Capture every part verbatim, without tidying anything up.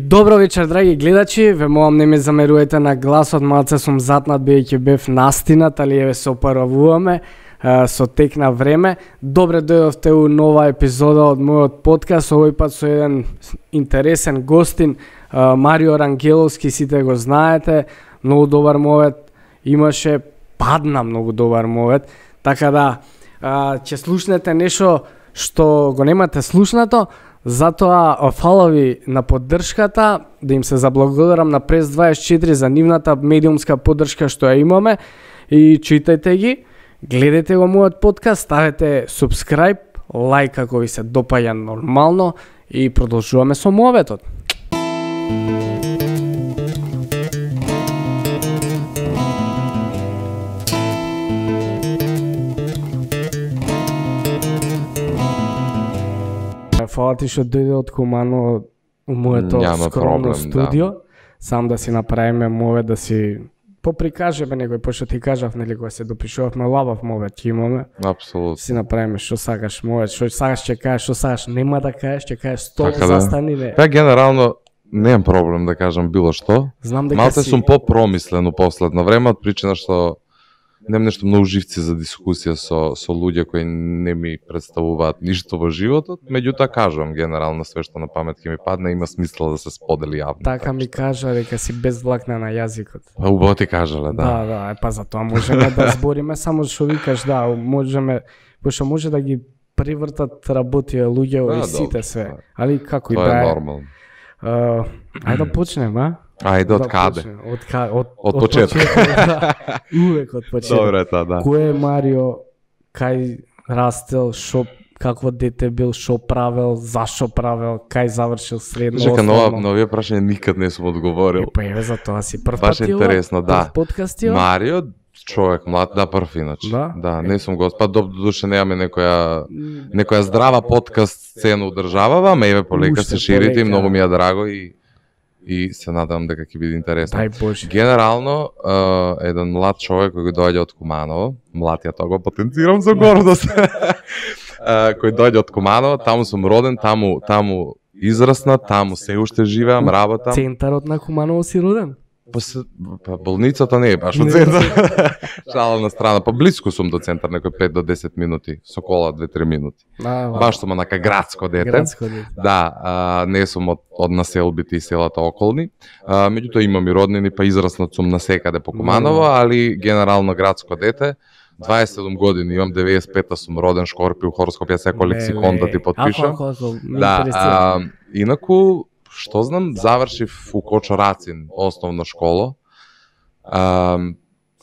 Добро вечер, драги гледачи, ве молам не ме замерувате на гласот, малце сум затнат бидејќи бев настинат, али еве се опаравуваме со тек на време. Добре дојдовте у нова епизода од мојот подкаст, овој пат со еден интересен гостин, Марио Рангеловски, сите го знаете, многу добар мовет, имаше, падна многу добар мовет, така да ќе слушнете нешто што го немате слушнато. Затоа фала ви на поддршката, да им се заблагодарам на Прес дваесет и четири за нивната медиумска поддршка што ја имаме и читајте ги, гледајте го мојот подкаст, ставете subscribe, лайк ако ви се допаѓа нормално и продолжуваме со моветот. Фала ти што дојде од Кумано у моето Няма скромно проблем, студио, да. сам да си направиме мове, да си поприкажеме некој, пошто ти кажав, нели, кога се допишувавме лабав мовет, ќе имаме. Апсолутно. Си направиме што сакаш мовет, што сакаш ќе кажеш, што сакаш нема да кажеш, ќе кажеш стоп, Така да. застани не. Па генерално немам проблем да кажам било што. Знам дека Малце си сум попромислен у последно време, од причина што немам нешто многу живци за дискусија со со луѓе кои не ми представуваат ништо во животот, меѓутоа кажувам генерално све што на памет ќе ми падне, има смисла да се сподели јавно. така ми кажа дека си без влакна на јазикот. Па убаво ти кажале, да. Да, да, е, па за тоа можеме да збориме, само што викаш, да, можеме, пошто може да ги привртат работија луѓе Да, и сите добро, све. да. Али како и Тоа да е е. нормално. Uh, ајде да почнем, а? Ајде, од каде? почнем. Од ка... од, Од почеток. да. Увек од почеток. Добро е тоа, да. Кој е Марио, кај растел, шо, какво дете бил, шо правел, зашо правел, кај завршил средно, Чека, нова, основно? новија прашање никад не сум одговорил. Е, па еве за тоа си прв Баш пат ти ова? интересно, да. Прв подкаст ова? Марио, човек млад, да, прв иначе. Да? Да, не сум го, па до душе немаме некоја некоја здрава подкаст сцена одржавава, ама еве полека Уште се ширите и полека. многу ми е драго и и се надевам дека ќе биде интересно. Дај Боже. Генерално, е, еден млад човек кој доаѓа од Куманово, млад ја тоа го потенцирам за гордост. Е, кој доаѓа од Куманово, таму сум роден, таму таму израснат, таму се уште живеам, работам. Центарот на Куманово си роден? Па, се, па болницата не е баш Не од е центар. Шала на страна, па блиску сум до центар, некој пет до десет минути, со кола две-три минути. А, Баш сум онака градско дете. градско дете. Да, а, не сум од, од населбите и селата околни. А, меѓутоа имам и роднини, па израснат сум насекаде по Куманово, али генерално градско дете. дваесет и седум години имам, деветдесет и пета сум роден, Шкорпио, хороскоп, ја секој лексикон да ти потпишам. Ако, ако, ако, ме Да, интересира. а, инаку, што знам, завршив у Кочорацин основна школа. А,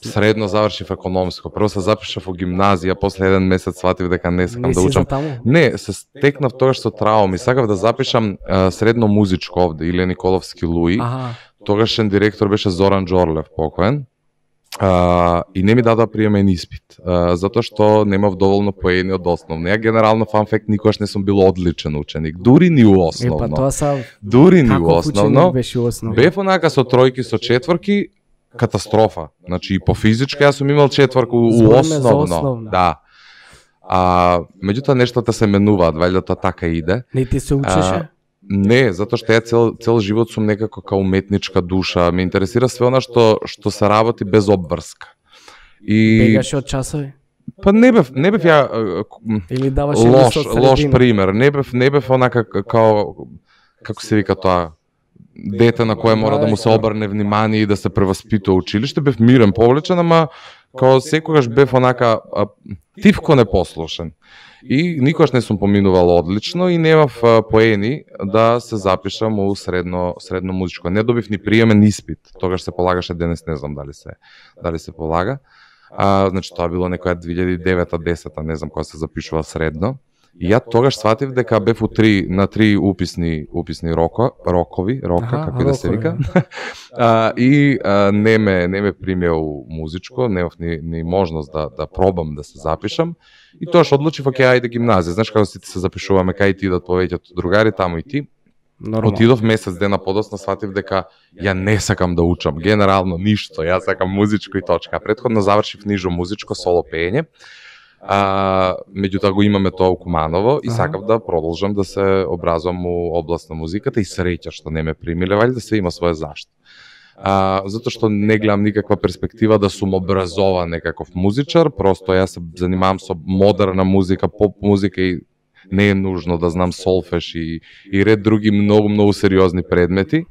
средно завршив економско. Прво се запишав во гимназија, после еден месец сватив дека не сакам Не да си учам. за таму? Не, се стекнав тогаш со трауми. Сакав да запишам а, средно музичко овде, Илија Николовски Луи. Аха. Тогашен директор беше Зоран Джорлев, покоен. А, и не ми дадоа приемен испит, а, затоа што немав доволно поени од основно. Ја генерално фанфект никогаш не сум бил одличен ученик, дури ни у Е, па основно. тоа са Дури ни у каков основно. ученик беше у основно? Бев онака со тројки, со четворки, катастрофа. Значи и по физичка јас сум имал четворка у Збориме за основно. основно. Да. А, меѓутоа нештата се менуваат, вајде тоа така иде. Не ти се учеше? Не, затоа што ја цел цел живот сум некако као уметничка душа, ме интересира све она што што се работи без обврска. И Бегаше од часови? па не бев не бев ја е, м, Или даваше лош лист од лош средина? пример, не бев не бев онака к- као како се вика тоа дете на кое мора да му се обрне внимание и да се преваспитува училиште, бев мирен, повлечен, ама као секогаш бев онака а, тивко непослушен. И никогаш не сум поминувал одлично и немав а, поени да се запишам у средно средно музичко. Не добив ни приемен испит. Тогаш се полагаше, денес не знам дали се дали се полага. А, значи тоа било некоја две илјади и девета десета, не знам кога се запишува средно. И ја тогаш сватив дека бев у три на три уписни уписни роко, рокови, рока, Аха, како и да се рокови, вика. а, и а, не ме не ме примео музичко, немав ни ни можност да да пробам да се запишам. И тоаш одлучив оке ајде гимназија. Знаеш како сите се запишуваме кај ти идат повеќето другари, таму и ти. Нормално. Отидов месец дена подоцна, сватив дека ја не сакам да учам, генерално ништо, јас сакам музичко и точка. Претходно завршив нижо музичко соло пеење. А, меѓутоа го имаме тоа у Куманово и Аха. сакав да продолжам да се образувам у област на музиката и среќа што не ме примиле, валјда се има своја зашто. А, затоа што не гледам никаква перспектива да сум образован некаков музичар, просто јас се занимавам со модерна музика, поп музика и не е нужно да знам солфеш и, и ред други многу, многу сериозни предмети.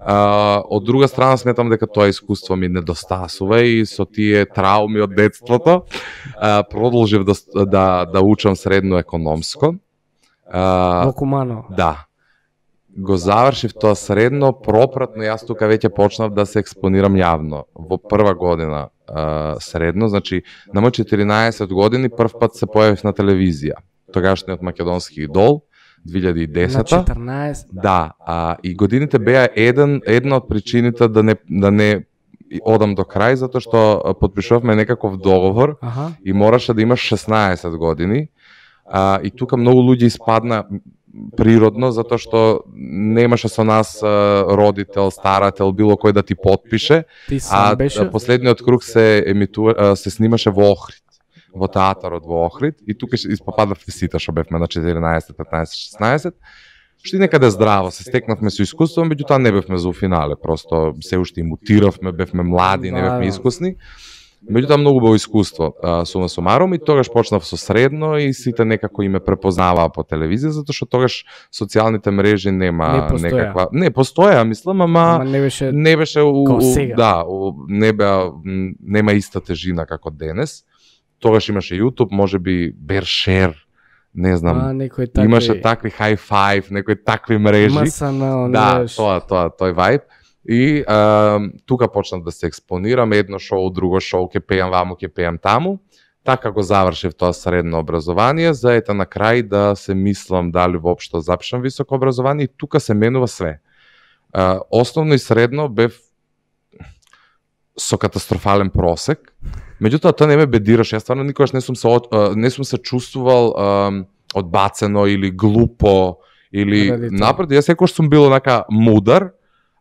А, од друга страна сметам дека тоа искуство ми недостасува и со тие трауми од детството а, продолжив да, да, да учам средно економско. А, Во Куманово. Да. Го завршив тоа средно, пропратно јас тука веќе почнав да се експонирам јавно. Во прва година а, средно, значи на мој четиринаесет години прв пат се појавив на телевизија. Тогашниот македонски идол, две илјади и десета. На четрнаесет. Да, а, и годините беа еден, една од причините да не, да не одам до крај, затоа што подпишувавме некаков договор Аха. и мораше да имаш шеснаесет години. А, и тука многу луѓе испадна природно, затоа што немаше со нас а, родител, старател, било кој да ти подпише. Ти сам А беше? последниот круг се емитува, а, се снимаше во Охрид, во театарот во Охрид, и тука испопадавте сите што бевме на четиринаесет, петнаесет, шеснаесет. Што и некаде здраво, се стекнавме со искуство, меѓутоа не бевме за финале, просто се уште имутиравме, бевме млади, не Да, бевме да. искусни. Меѓутоа многу било искуство, а, сума сумарум, и тогаш почнав со средно и сите некако и ме препознаваа по телевизија, затоа што тогаш социјалните мрежи нема Не постоја. некаква... Не, постоја, мислам, ама... Ама не беше не беше у, као у, сега. да, у, не беа м, нема иста тежина како денес. Тогаш имаше YouTube, можеби Бершер, не знам. а, некои такви... Имаше такви High Five, некои такви мрежи. МСН, Да, неш. тоа, тоа, тој вајб. И а, тука почнав да се експонирам, едно шоу, друго шоу, ке пеам ваму, ке пеам таму. Така го завршив тоа средно образование, за ета на крај да се мислам дали воопшто запишам високо образование, и тука се менува све. А, основно и средно бев со катастрофален просек. Меѓутоа тоа не ме бедираше, јас стварно никогаш не сум се од- а, не сум се чувствувал а, одбацено или глупо или Ради тоа. напротив, јас секогаш сум бил онака мудар,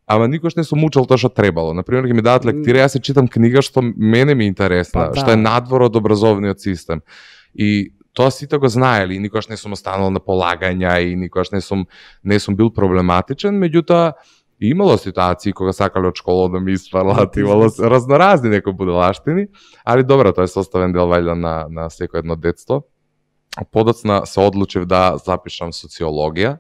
ама никогаш не сум учел тоа што требало. Например, ќе ми дадат лектира, јас се читам книга што мене ми е интересна, Па да. што е надвор од образовниот систем. И тоа сите го знаеле, и никогаш не сум останал на полагања и никогаш не сум не сум бил проблематичен, меѓутоа имало ситуации кога сакале од школа да ми испарлат, имало разноразни некои будалаштини, али добро, тоа е составен дел вајда на на секој едно детство. Подоцна се одлучив да запишам социологија.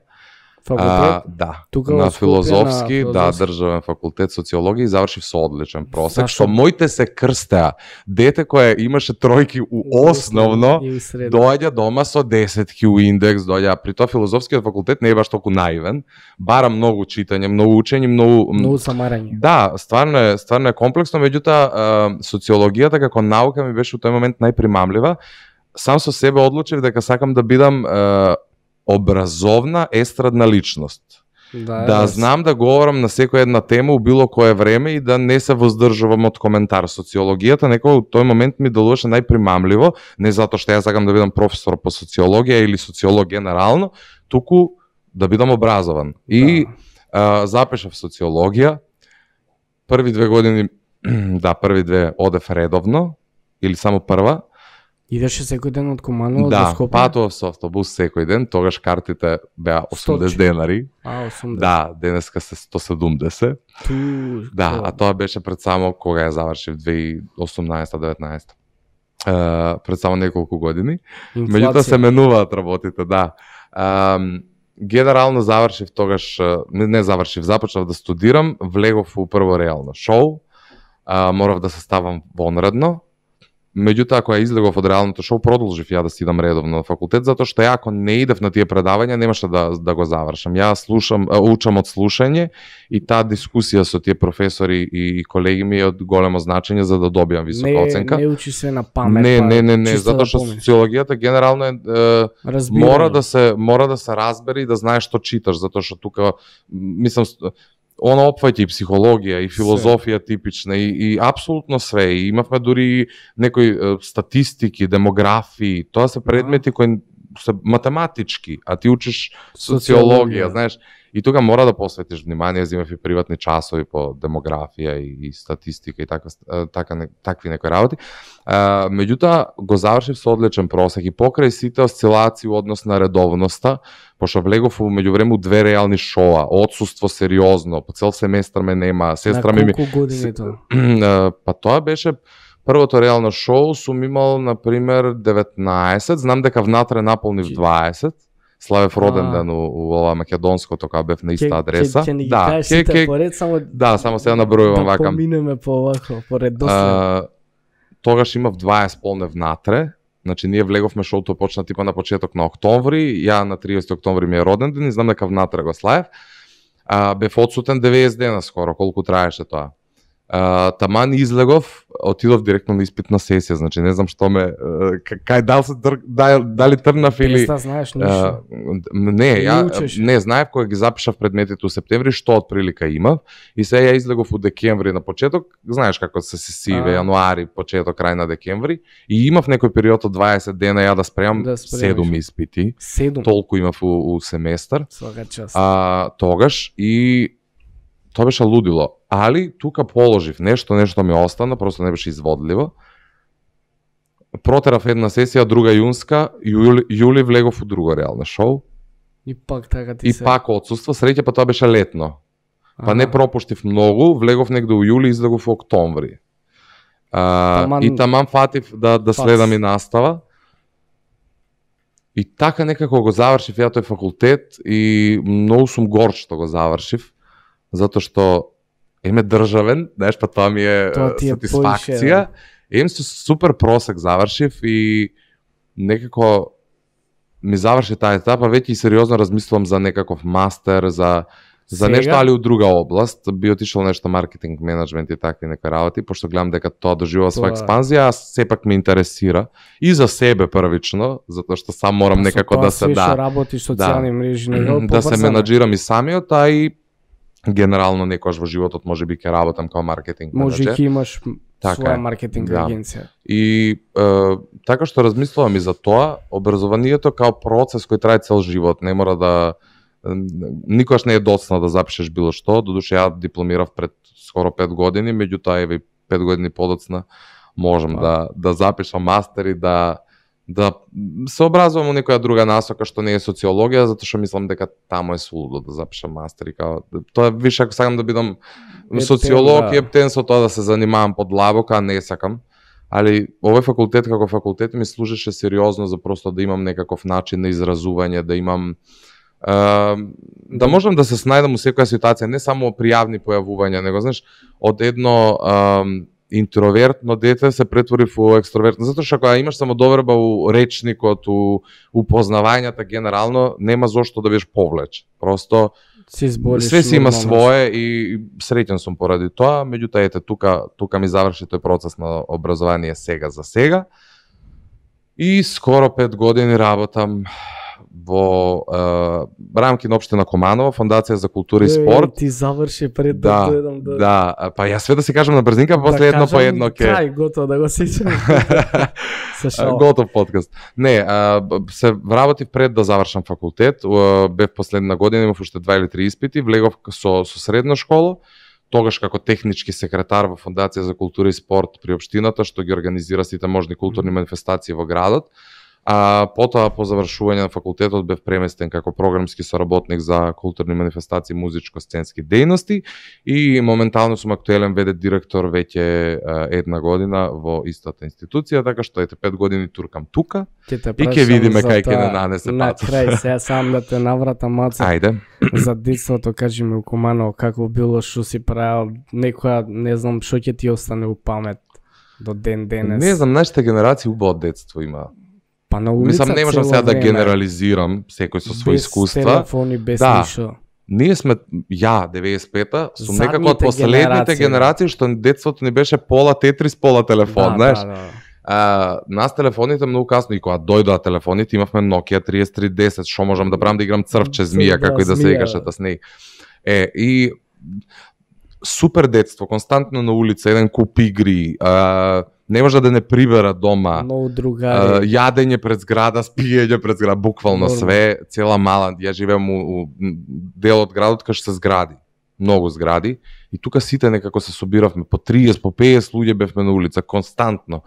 Факултет? А, да, Тука на во Скопје, филозофски, на да, филозофски. државен факултет социологија и завршив со одличен просек, Зашо? што моите се крстеа. Дете кое имаше тројки у основно, И у средно. доаѓа дома со десетки у индекс, доаѓа, при тоа филозофскиот факултет не е баш толку наивен, бара многу читање, многу учење, многу... Многу самарање. Да, стварно е, стварно е комплексно, меѓутоа е, социологијата како наука ми беше у тој момент најпримамлива. Сам со себе одлучив дека сакам да бидам е, образовна естрадна личност. Да, Да да, знам да говорам на секоја една тема у било кое време и да не се воздржувам од коментар. Социологијата некој у тој момент ми делуваше најпримамливо, не затоа што ја сакам да бидам професор по социологија или социолог генерално, туку да бидам образован. И а, запишав социологија. Први две години, да, први две одев редовно, или само прва. Идеше секој ден од Куманово до Да, Скопје? патував со автобус секој ден, тогаш картите беа осумдесет Сточи. денари. А, осумдесет. Да, денеска се сто седумдесет. Ту... Да, а тоа беше пред само кога ја завршив две илјади и осумнаесета деветнаесета. Е, пред само неколку години. Меѓутоа се менуваат работите, да. Е, генерално завршив тогаш, не, не завршив, започнав да студирам, влегов у прво реално шоу, е, морав да се ставам вонредно. Меѓутоа, кога излегов од реалното шоу, продолжив ја да си идам редовно на факултет, затоа што ја ако не идев на тие предавања, немаше да, да го завршам. Ја слушам, учам од слушање и таа дискусија со тие професори и колеги ми е од големо значење за да добијам висока не, оценка. Не учи се на памет. Не, па, не, не, не, чисто затоа што да помниш. социологијата генерално е, е Разбирање. мора да се мора да се разбере и да знаеш што читаш, затоа што тука мислам она опфаќа и психологија и филозофија типична и, и апсолутно све. И имавме дури некои е, статистики, демографии, тоа се предмети кои се математички, а ти учиш социологија, знаеш, и тука мора да посветиш внимание, земав и приватни часови по демографија и, и статистика и така, така такви некои работи. А, меѓутоа го завршив со одличен просек и покрај сите осцилации у однос на редовноста, пошто влегов меѓувреме две реални шоа, отсуство сериозно, по цел семестар ме нема, сестра ми... На колку години тоа? Па тоа беше првото реално шоу, сум имал, например, деветнаесет, знам дека внатре наполнив дваесет, славев роден ден у, у ова македонското, кога бев на иста адреса. Ќе ни ги кажеш сите поред, само... Да, само сега набројувам вака. Да поминеме по овако, по редослед. Тогаш имав дваесет полне внатре, значи ние влеговме шоуто почна типа на почеток на октомври, ја на триесети октомври ми е роден ден и знам дека внатре го славев. А, бев одсутен деветдесет дена скоро, колку траеше тоа. Uh, таман излегов, отидов директно на испитна сесија, значи не знам што ме кај дал се др... дали трнав или Без да знаеш ништо. Uh, не, ја не знаев кога ги запишав предметите у септември што отприлика имав и сега ја излегов у декември на почеток, знаеш како се сесиве, јануари, почеток, крај на декември и имав некој период од дваесет дена ја да спремам да седум испити. седум Толку имав у, у семестар. Свака част. А, тогаш и тоа беше лудило, али тука положив нешто, нешто ми остана, просто не беше изводливо. Протерав една сесија, друга јунска, јули, јули влегов у друго реално шоу. И пак така ти и се... И пак отсуство, среќа па тоа беше летно. Па ага. Не пропуштив многу, влегов негде у јули, излегов у октомври. А, таман... И таман фатив да, да следам и настава. И така некако го завршив ја тој факултет и многу сум горд што го завршив. Затоа што еме државен, знаеш, па тоа ми е, тоа е сатисфакција. Ем со супер просек завршив и некако ми заврши таа етапа, веќе и сериозно размислувам за некаков мастер, за за Сега? Нешто, али у друга област. Би отишол нешто маркетинг, менеджмент и такви некои работи, пошто гледам дека тоа доживува своја експанзија, а сепак ме интересира и за себе првично, затоа што сам морам некако да се да работиш социјални мрежи, него да се менаџирам и самиот, а и генерално некојаш во животот може би ќе работам како маркетинг менеджер. Може ќе имаш така, своја маркетинг да. агенција. И е, така што размислувам и за тоа, образованието као процес кој трае цел живот, не мора да никогаш не е доцна да запишеш било што, додуше ја дипломирав пред скоро пет години, меѓутоа еве пет години подоцна можам а. да да запишам мастер и да да се образувам у некоја друга насока што не е социологија, затоа што мислам дека таму е сулудо да запишам мастер и као тоа више ако сакам да бидам социолог да. И ептен со тоа да се занимавам подлабока, а не сакам. Али овој факултет како факултет ми служеше сериозно за просто да имам некаков начин на изразување, да имам Uh, да можам да се снајдам у секоја ситуација, не само при јавни појавувања, него знаеш, од едно uh, интровертно дете се претвори во екстровертно, затоа што кога имаш самодоверба у речникот, у упознавањата генерално, нема зошто да бидеш повлечен. Просто све си има свое и среќен сум поради тоа, меѓутоа ете тука тука ми заврши тој процес на образование сега за сега. И скоро пет години работам во е, рамки на општина Команово, Фондација за култура и спорт. Ти заврши пред да дојдам да. Да, па јас све да се кажам на брзинка, па после да едно по едно ке. Крај готово да го сеќам. Готов подкаст. Не, а, се вработив пред да завршам факултет, бев последна година, имав уште два или три испити, влегов со со средна школа, тогаш како технички секретар во Фондација за култура и спорт при општината, што ги организира сите можни културни манифестации во градот. А потоа по завршување на факултетот бев преместен како програмски соработник за културни манифестации, музичко-сценски дејности и моментално сум актуелен ве де директор веќе една година во истата институција, така што ете пет години туркам тука и ќе видиме кај ќе не нанесе пат. На крај сега сам да те навратам Маце. Ајде. За детството кажи ми у Куманово како било, што си правил, некоја не знам што ќе ти остане у памет до ден денес. Не знам, нашите генерации убаво детство има. Па на улица мислам, не можам сега да генерализирам секој со своји искуства. Без телефони, без да. ништо. Ние сме, ја, деветдесет и пета, сум некако од последните генерации што детството ни беше пола тетрис, пола телефон, да, знаеш. Да, да. А, нас телефоните многу касно, и кога дојдоа телефоните, имавме Nokia триесет три десет, што можам да правам да играм црвче змија, да, како и да се играше та с неј. Е, и супер детство, константно на улица, еден куп игри, а, не може да не прибера дома. Многу другари. Јадење пред зграда, спиење пред зграда, буквално Норма. Све, цела мала. Ја живеам у, у дел од градот кај што се згради. Многу згради. И тука сите некако се собиравме по триесет, по петдесет луѓе бевме на улица константно.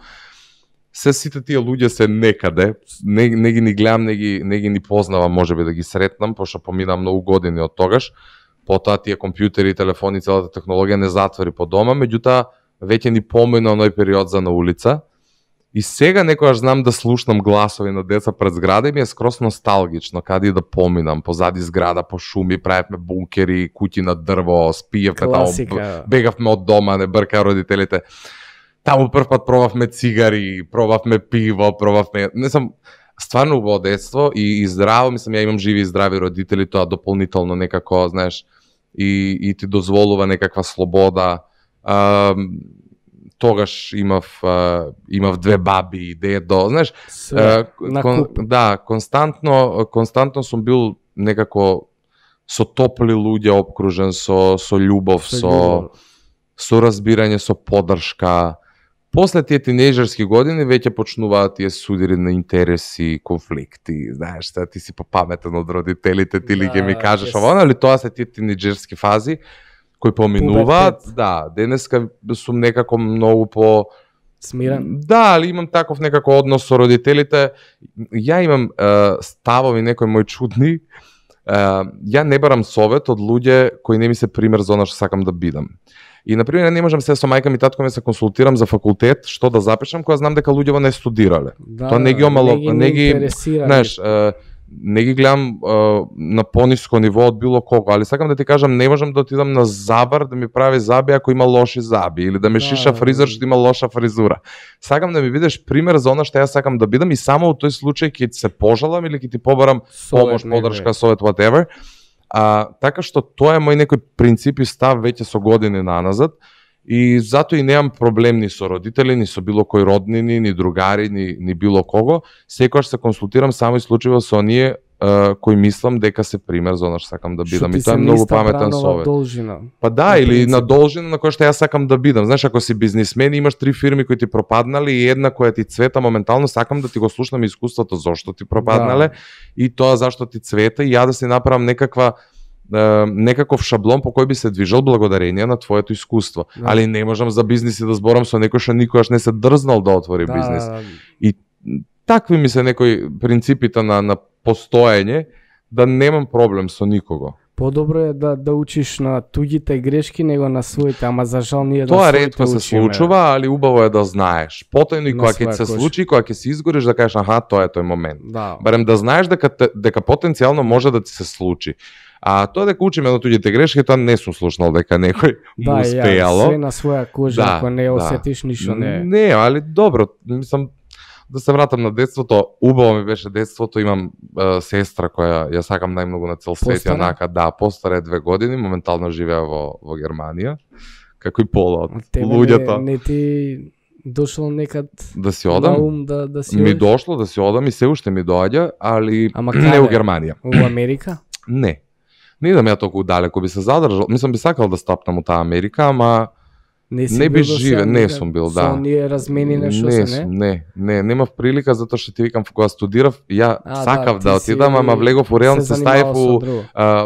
Се сите тие луѓе се некаде, не, не ги ни гледам, не ги, не ги ни познавам, можеби да ги сретнам, пошто помина многу години од тогаш. Потоа тие компјутери, телефони, целата технологија не затвори по дома, меѓутоа веќе ни помина оној период за на улица. И сега некогаш знам да слушнам гласови на деца пред зграда и ми е скрос носталгично, каде и да поминам, позади зграда, по шуми, правевме бункери, куќи на дрво, спиевме таму, бегавме од дома, не брка родителите. Таму прв пат пробавме цигари, пробавме пиво, пробавме... Не сам стварно убаво детство и, и здраво, мислам, ја имам живи и здрави родители, тоа дополнително некако, знаеш, и, и ти дозволува некаква слобода. А, тогаш имав а, имав две баби, дедо, знаеш, а, кон, да, константно константно сум бил некако со топли луѓе опкружен, со со љубов, со со, со разбирање, со поддршка. После тие тинејџерски години веќе почнуваат тие судири на интереси, конфликти, знаеш, та ти си попаметен од родителите, ти ли ќе ми кажеш yes. ова, али тоа се тие тинејџерски фази кои поминуваат. Да, денеска сум некако многу по смирен. Да, али имам таков некако однос со родителите. Ја имам е, ставови некои мои чудни. Е, ја не барам совет од луѓе кои не ми се пример за она што сакам да бидам. И на пример не можам се со мајка ми татко ми се консултирам за факултет, што да запишам кога знам дека луѓето не студирале. Да, тоа не ги омало, не ги, не ги знаеш, не ги гледам на пониско ниво од било кого, али сакам да ти кажам, не можам да отидам на забар да ми прави заби ако има лоши заби или да ми да, шиша фризер што има лоша фризура. Сакам да ми бидеш пример за она што ја сакам да бидам и само во тој случај ќе се пожалам или ќе ти побарам помош, поддршка, совет, whatever. А, така што тоа е мој некој принцип и став веќе со години наназад и затоа и немам проблем ни со родители, ни со било кој роднини, ни другари, ни, ни било кого. Секогаш се консултирам само исклучиво со оние uh, кои мислам дека се пример за она што сакам да бидам. И тоа е многу паметен совет. Должина. Па да, или на должина на која што ја сакам да бидам. Знаеш, ако си бизнисмен и имаш три фирми кои ти пропаднале и една која ти цвета моментално, сакам да ти го слушнам искуството зошто ти пропаднале да. И тоа зашто ти цвета и ја да си направам некаква некаков шаблон по кој би се движел благодарение на твоето искуство. Да. Али не можам за бизниси да зборам со некој што никогаш не се дрзнал да отвори да. Бизнис. И такви ми се некои принципите на, на постоење, да немам проблем со никого. Подобро е да да учиш на туѓите грешки него на своите, ама за жал ние да тоа ретко се случува, али убаво е да знаеш. Потојно и кога ќе се случи, кога ќе се изгориш да кажеш аха, тоа е тој момент. Да. Барем да знаеш дека дека потенцијално може да ти се случи. А тоа дека учиме на туѓите грешки, тоа не сум слушнал дека некој да, му успеало. Да, све на своја кожа, да, ако не да. осетиш ништо не. Не, али добро, мислам да се вратам на детството, убаво ми беше детството, имам е, сестра која ја сакам најмногу на цел свет, јанака, да, постара е две години, моментално живеа во во Германија, како и пола од луѓето. Не, не ти дошло некад да си одам, на ум да, да си ми одиш? Дошло да си одам и се уште ми доаѓа, али Ама не во Германија. Во Америка? Не. Не идам ја толку далеко, би се задржал. Мислам би сакал да стапнам у таа Америка, ама не, не би живе, не сум бил, да. Со ние размени нешто не, се, не? Не, не, немав прилика затоа што ти викам кога студирав, ја а, сакав да, да отидам, ама влегов у реално се ставив у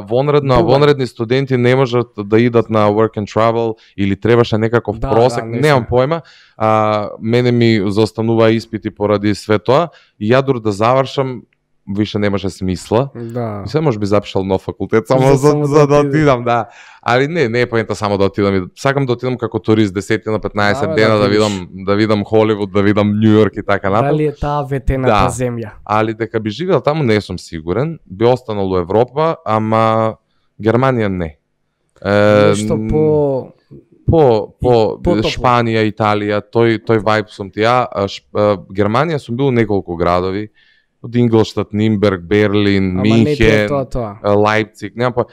вонредно, а вонредни студенти не можат да идат на work and travel или требаше некаков да, просек, да, немам појма. А, мене ми заостанува испити поради све тоа и ја дур да завршам више немаше смисла. Да. И се може би запишал нов факултет само за, за, за да отидам, да. Али не, не е поента само да отидам. Сакам да отидам како турист десет на петнаесет да, дена да, да видам да видам Холивуд, да видам Њу Јорк и така натаму. Дали е таа ветената да. Земја? Али дека би живеел таму не сум сигурен. Би останал у Европа, ама Германија не. Е, Нешто по по по Шпанија, Италија, тој тој вајб сум ти ја. Германија сум бил у неколку градови. Од Инглштад, Нимберг, Берлин, Минхен, Лајпциг, нема па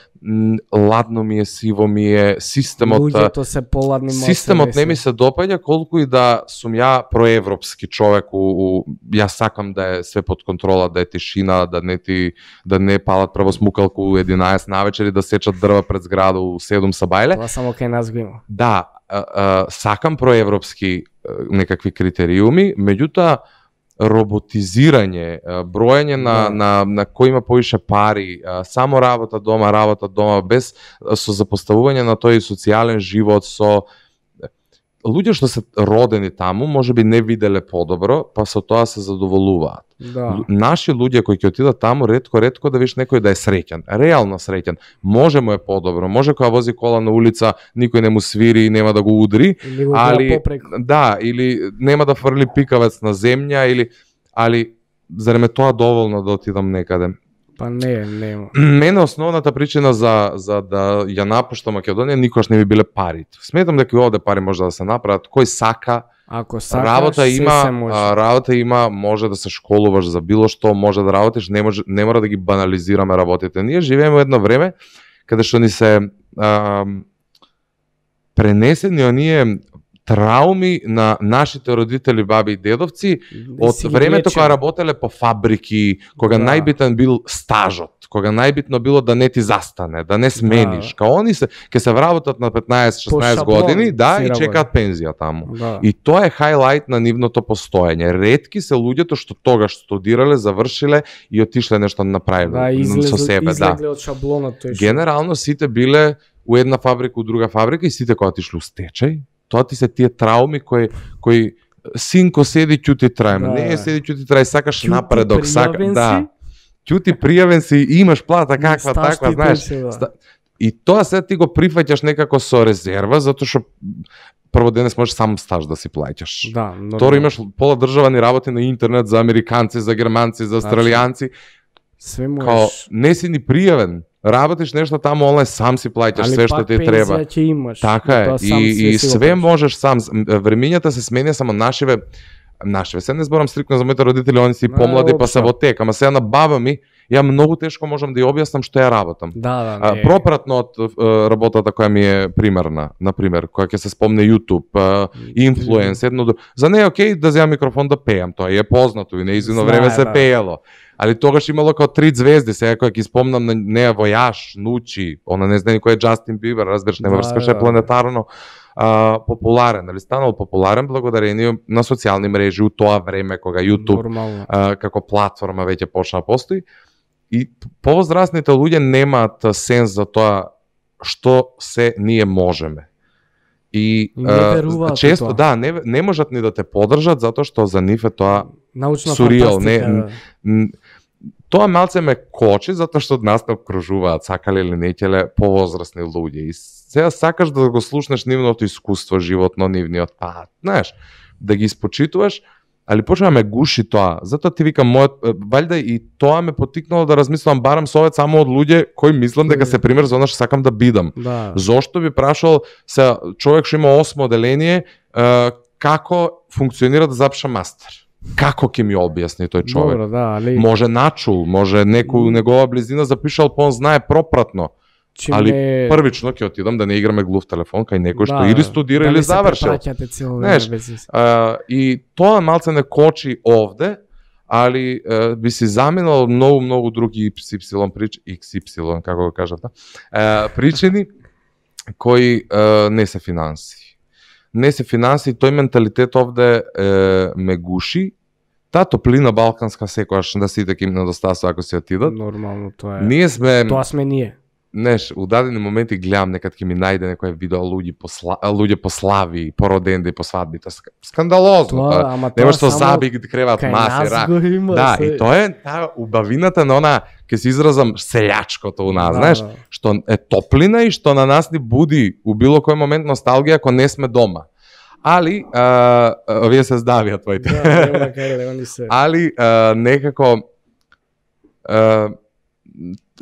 ладно ми е, сиво ми е, системот луѓето се поладни, системот не ми се допаѓа колку и да сум ја проевропски човек, у, у, ја сакам да е све под контрола, да е тишина, да не ти да не палат прво смукалку у единаесет навечер и да сечат дрва пред зграда у седум сабајле. Тоа само кај нас го има. Да, а, а, сакам проевропски некакви критериуми, меѓутоа роботизирање, броење на, Да. на, на кој има повише пари, само работа дома, работа дома, без со запоставување на тој социјален живот, со луѓе што се родени таму, можеби не виделе подобро, па со тоа се задоволуваат. Да. Наши луѓе кои ќе отидат таму, ретко ретко да видиш некој да е среќен, реално среќен. Може му е подобро, може кога вози кола на улица, никој не му свири и нема да го удри, Или го али гледа попреку. да, или нема да фрли пикавец на земја, или али зарем е тоа доволно да отидам некаде? Па не, нема. Мене основната причина за за да ја напуштам Македонија никогаш не би биле парите. Сметам дека и овде пари може да се направат, кој сака. Ако сакаш, Работа се има, се може. а, работа има, може да се школуваш за било што, може да работиш, не може не мора да ги банализираме работите. Ние живееме во едно време каде што ни се а, пренесени оние трауми на нашите родители, баби и дедовци од си ги времето лечил. кога работеле по фабрики, кога Да. најбитен бил стажот, кога најбитно било да не ти застане, да не смениш. Да. Као они се ќе се вработат на петнаесет-шеснаесет шаблон години, да, си и работи. чекаат пензија таму. Да. И тоа е хајлајт на нивното постоење. Ретки се луѓето што тогаш студирале, завршиле и отишле нешто направиле Да, со излезле, себе, да. излегле од шаблонот тој. што- Генерално сите биле у една фабрика, у друга фабрика и сите кога отишле у стечај, тоа ти се тие трауми кои кои синко седи ќути трај, Да. не седи ќути трај, сакаш Ќути, напредок, сака, пријавен да. си. Ќути пријавен си, имаш плата каква Стаж таква, ти знаеш. тече, да. Ста- И тоа се ти го прифаќаш некако со резерва, затоа што прво денес можеш сам стаж да си плаќаш. Да, но Второ, имаш пола држава ни работи на интернет за американци, за германци, за австралијанци. све Као, можеш. не си ни пријавен. Работиш нешто таму онлайн, сам си плаќаш Али све што пак ти треба. пензија ќе имаш. Така е. Тоа сам И, и си го све правиш. можеш сам. Времињата се сменја, само нашиве нашиве. Се не зборам стрикно за моите родители, они си Не, помлади па се општо. во тек, ама сега на баба ми ја многу тешко можам да ја објаснам што ја работам. Да, да, А, не. пропратно од е, работата која ми е примерна, на пример, која ќе се спомне YouTube, е, инфлуенс, едно друго. За неја окей да земам микрофон да пеам, тоа е познато и неизино Знае, време се да. пеело. Али тогаш имало као три звезди, сега кога ги спомнам на неја Војаш, Нучи, она не знае кој е Джастин Бибер, разбираш, не Да, врскаше да. планетарно а, популарен, али станал популарен благодарение на социјални мрежи у тоа време кога YouTube Нормално. а, како платформа веќе почна да постои. И повозрастните луѓе немаат сенс за тоа што се ние можеме. И, И не а, веруваат у често, тоа. да, не, не можат ни да те подржат затоа што за нив е тоа Научна сурреал, фантастика. не- да. м, тоа малце ме кочи затоа што од нас не обкружуваат, сакале или не ќеле повозрастни луѓе. И сега сакаш да го слушнеш нивното искуство животно, нивниот пат, знаеш, да ги испочитуваш, али почна ме гуши тоа. Затоа ти викам, мојот, е, валјда и тоа ме потикнало да размислам барам совет само од луѓе кои мислам дека се пример за она што сакам да бидам. Да. Зошто би прашал се човек што има осмо оделение, е, како функционира да запиша мастер? Како ќе ми објасни тој човек? Добро, да, али Може начул, може некој у негова близина запишал, па он знае пропратно. чим али не... Првично ќе отидам да не играме глув телефон кај некој што Да, или студира да или не се завршил. препраќате цело Знаеш, време без вез. А, и тоа малце не кочи овде, али е, би си заминал многу многу други икс ипсилон прич икс ипсилон како го кажат, да? Е, причини кои е, не се финанси. Не се финанси, тој менталитет овде е, ме гуши. Таа топлина балканска секогаш да сите ќе им недостасува ако се отидат. Нормално тоа е. Ние сме Тоа сме ние. Неш, у дадени моменти гледам некад ќе ми најде некој видео луѓе по сла... луѓе по слави, по роденда и по свадбите. Ск- Скандалозно. Тоа, Тоа, ама тоа нема што само заби ги креват кај маси, нас ра. го има. Да, се- и тоа е таа убавината на она, ќе се изразам, селјачкото у нас, Да, знаеш, да. што е топлина и што на нас ни буди у било кој момент носталгија ако не сме дома. Али, а, а, вие се здавија твоите. Да, нема кај да они се. Али а, некако а,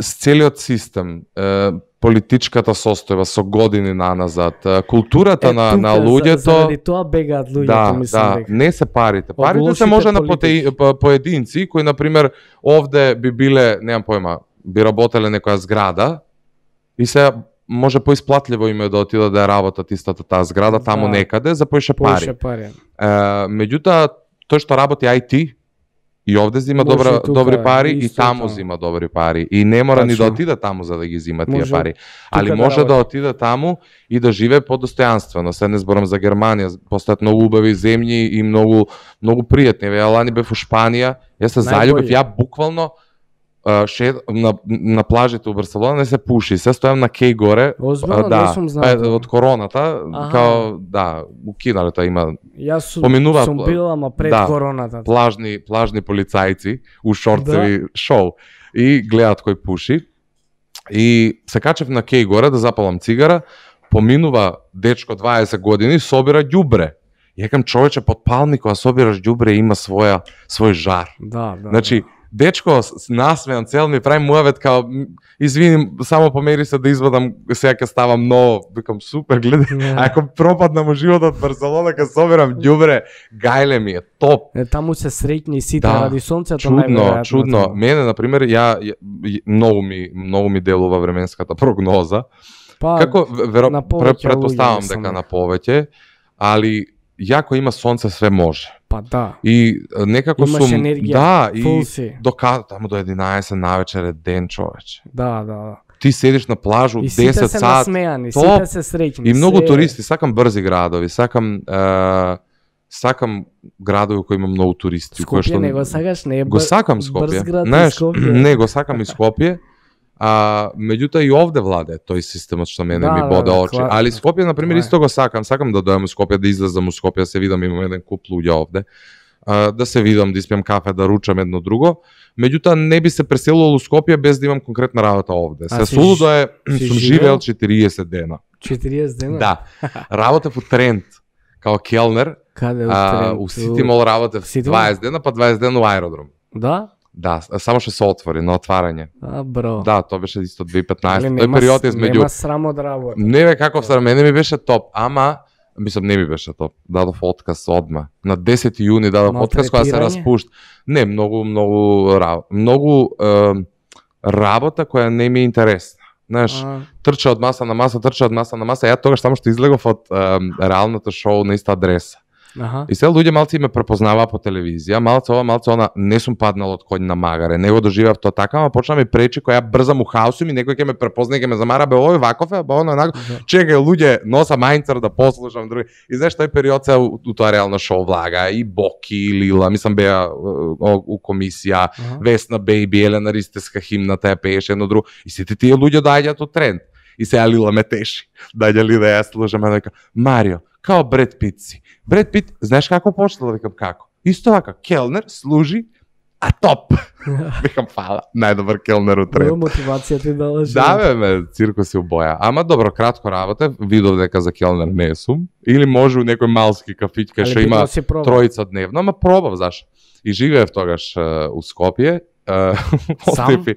с целиот систем, а, политичката состојба со години наназад, а, културата Е, на, тука, на за- луѓето, Заради тоа бегаат луѓето, да, мислам да, дека. не се парите. Од Парите се лошите може на политики. поте, по- поединци кои на пример овде би биле, немам појма, би работеле некоја зграда и се може поисплатливо им е да отидат да ја работат истата таа зграда Да. таму некаде за поише пари. Поише пари. Е, меѓутоа, тој што работи ай ти, И овде зима Може добра, и тука, добри пари и исто таму тоа. зима добри пари. И не мора ни да Тачно. отиде таму за да ги зима тие Може пари. тука Али да може да работи. отиде таму и да живее подостојанствено. Се не зборам за Германија, постојат многу убави земји и многу многу пријатни. Еве, ја лани бев у Шпанија, јас се заљубив, Најбољи. ја буквално а, шед, на, на плажите у Барселона не се пуши, се стојам на кеј горе, Озбилно, да, не сум знал па, тоа. од короната, Аха. као, да, укинале тоа има Јас сум, поминуваат сум пла- бил, ама пред да, короната. плажни, плажни полицајци у шорцеви шоу и гледаат кој пуши. И се качев на кеј горе да запалам цигара, поминува дечко дваесет години, собира ѓубре. Јекам, човече, под палми кога собираш ѓубре има своја свој жар. Да, да. Значи, дечко с- насмеан цел ми прави муавет као м, извини, само помери се да извадам, сега ќе ставам ново. Викам супер, гледај. Да. А ако пропаднам у животот Барселона ќе собирам ѓубре, гајле ми е топ. Е, таму се среќни сите Да, ради сонцето Чудно, најверојатно чудно. таму. Мене на пример, ја, ја ја- многу ми многу ми делува временската прогноза. Па, Како веро на повеќе пре- претпоставам луѓе, дека мислам. на повеќе, али јако има сонце све може. па да. И е, некако Имаш сум енергија, да, фул и си. дока таму до единаесет навечер е ден, човече. Да, да, да. Ти седиш на плажу И сите десет се сат. насмеани, топ. сите се среќни. И многу се- туристи, сакам брзи градови, сакам е, сакам градови кои има многу туристи, кои Скопје не го сакаш, не е Го бр- сакам брз Скопје. град и Знаеш, Скопје. не го сакам и Скопје. А меѓутоа и овде владе тој системот што мене Да, ми да, боде да, очи. кла- Али Скопје на пример тоа е. исто го сакам, сакам да дојдам у Скопје, да излезам у Скопје, да се видам, имам еден куп луѓе овде. А, да се видам, да испијам кафе, да ручам едно друго. Меѓутоа не би се преселувал у Скопје без да имам конкретна работа овде. А Се си сулудо ж- е, си сум живеел? живеел четириесет дена. четириесет дена? Да. Работев у Трент као келнер, Каде а, Трент? у Сити Мол работев Сити Мол? дваесет дена, па дваесет дена у аеродром. Да? Да, само што се отвори на отварање. А, бро. Да, тоа беше исто две хиляди и петнаесета. Али Тој нема период с- измеѓу Нема срамо од работа. не бе каков срам, мене ми беше топ, ама мислам не ми беше топ. Дадов отказ одма. На десети јуни дадов отказ кога се Малтретирање? распушт. Не, многу многу ра- многу е, работа која не ми е интересна. Знаеш, А, трча од маса на маса, трча од маса на маса. Ја тогаш само што излегов од е, реалното шоу на иста адреса. аха. И се луѓе малци ме препознаваа по телевизија, малце ова, малце она, не сум паднал од конј на магаре, не го доживеав тоа така, ама почна ми пречи која ја брзам у хаосум и некој ќе ме препознае, ќе ме замара, бе овој ваков е, бе оно онако. Да. Чекај луѓе, носа мајнцер да послушам други. И знаеш тој период се у, у тоа реално шоу влага и Боки и Лила, мислам беа у, у комисија, Аха. Весна Бејби, Елена Ристеска химната ја пееше едно друго. И сите тие луѓе доаѓаат од Тренд. И сега Лила ме теши. Даѓа ли да ја слушам, дека Марио, као Бред Пит си. Бред Пит, знаеш како почнал, викам како? Исто така, келнер служи, а топ. Викам фала, најдобар келнер у Тренд. Бро, мотивација ти дала Да, бе, ме, циркус и убоја. Ама добро, кратко работев, видов дека за келнер не сум. Или може у некој малски кафиќ кај што има тројца дневно, ама пробав, заш. И живеев тогаш е, у Скопје. Е, Сам? Остефи.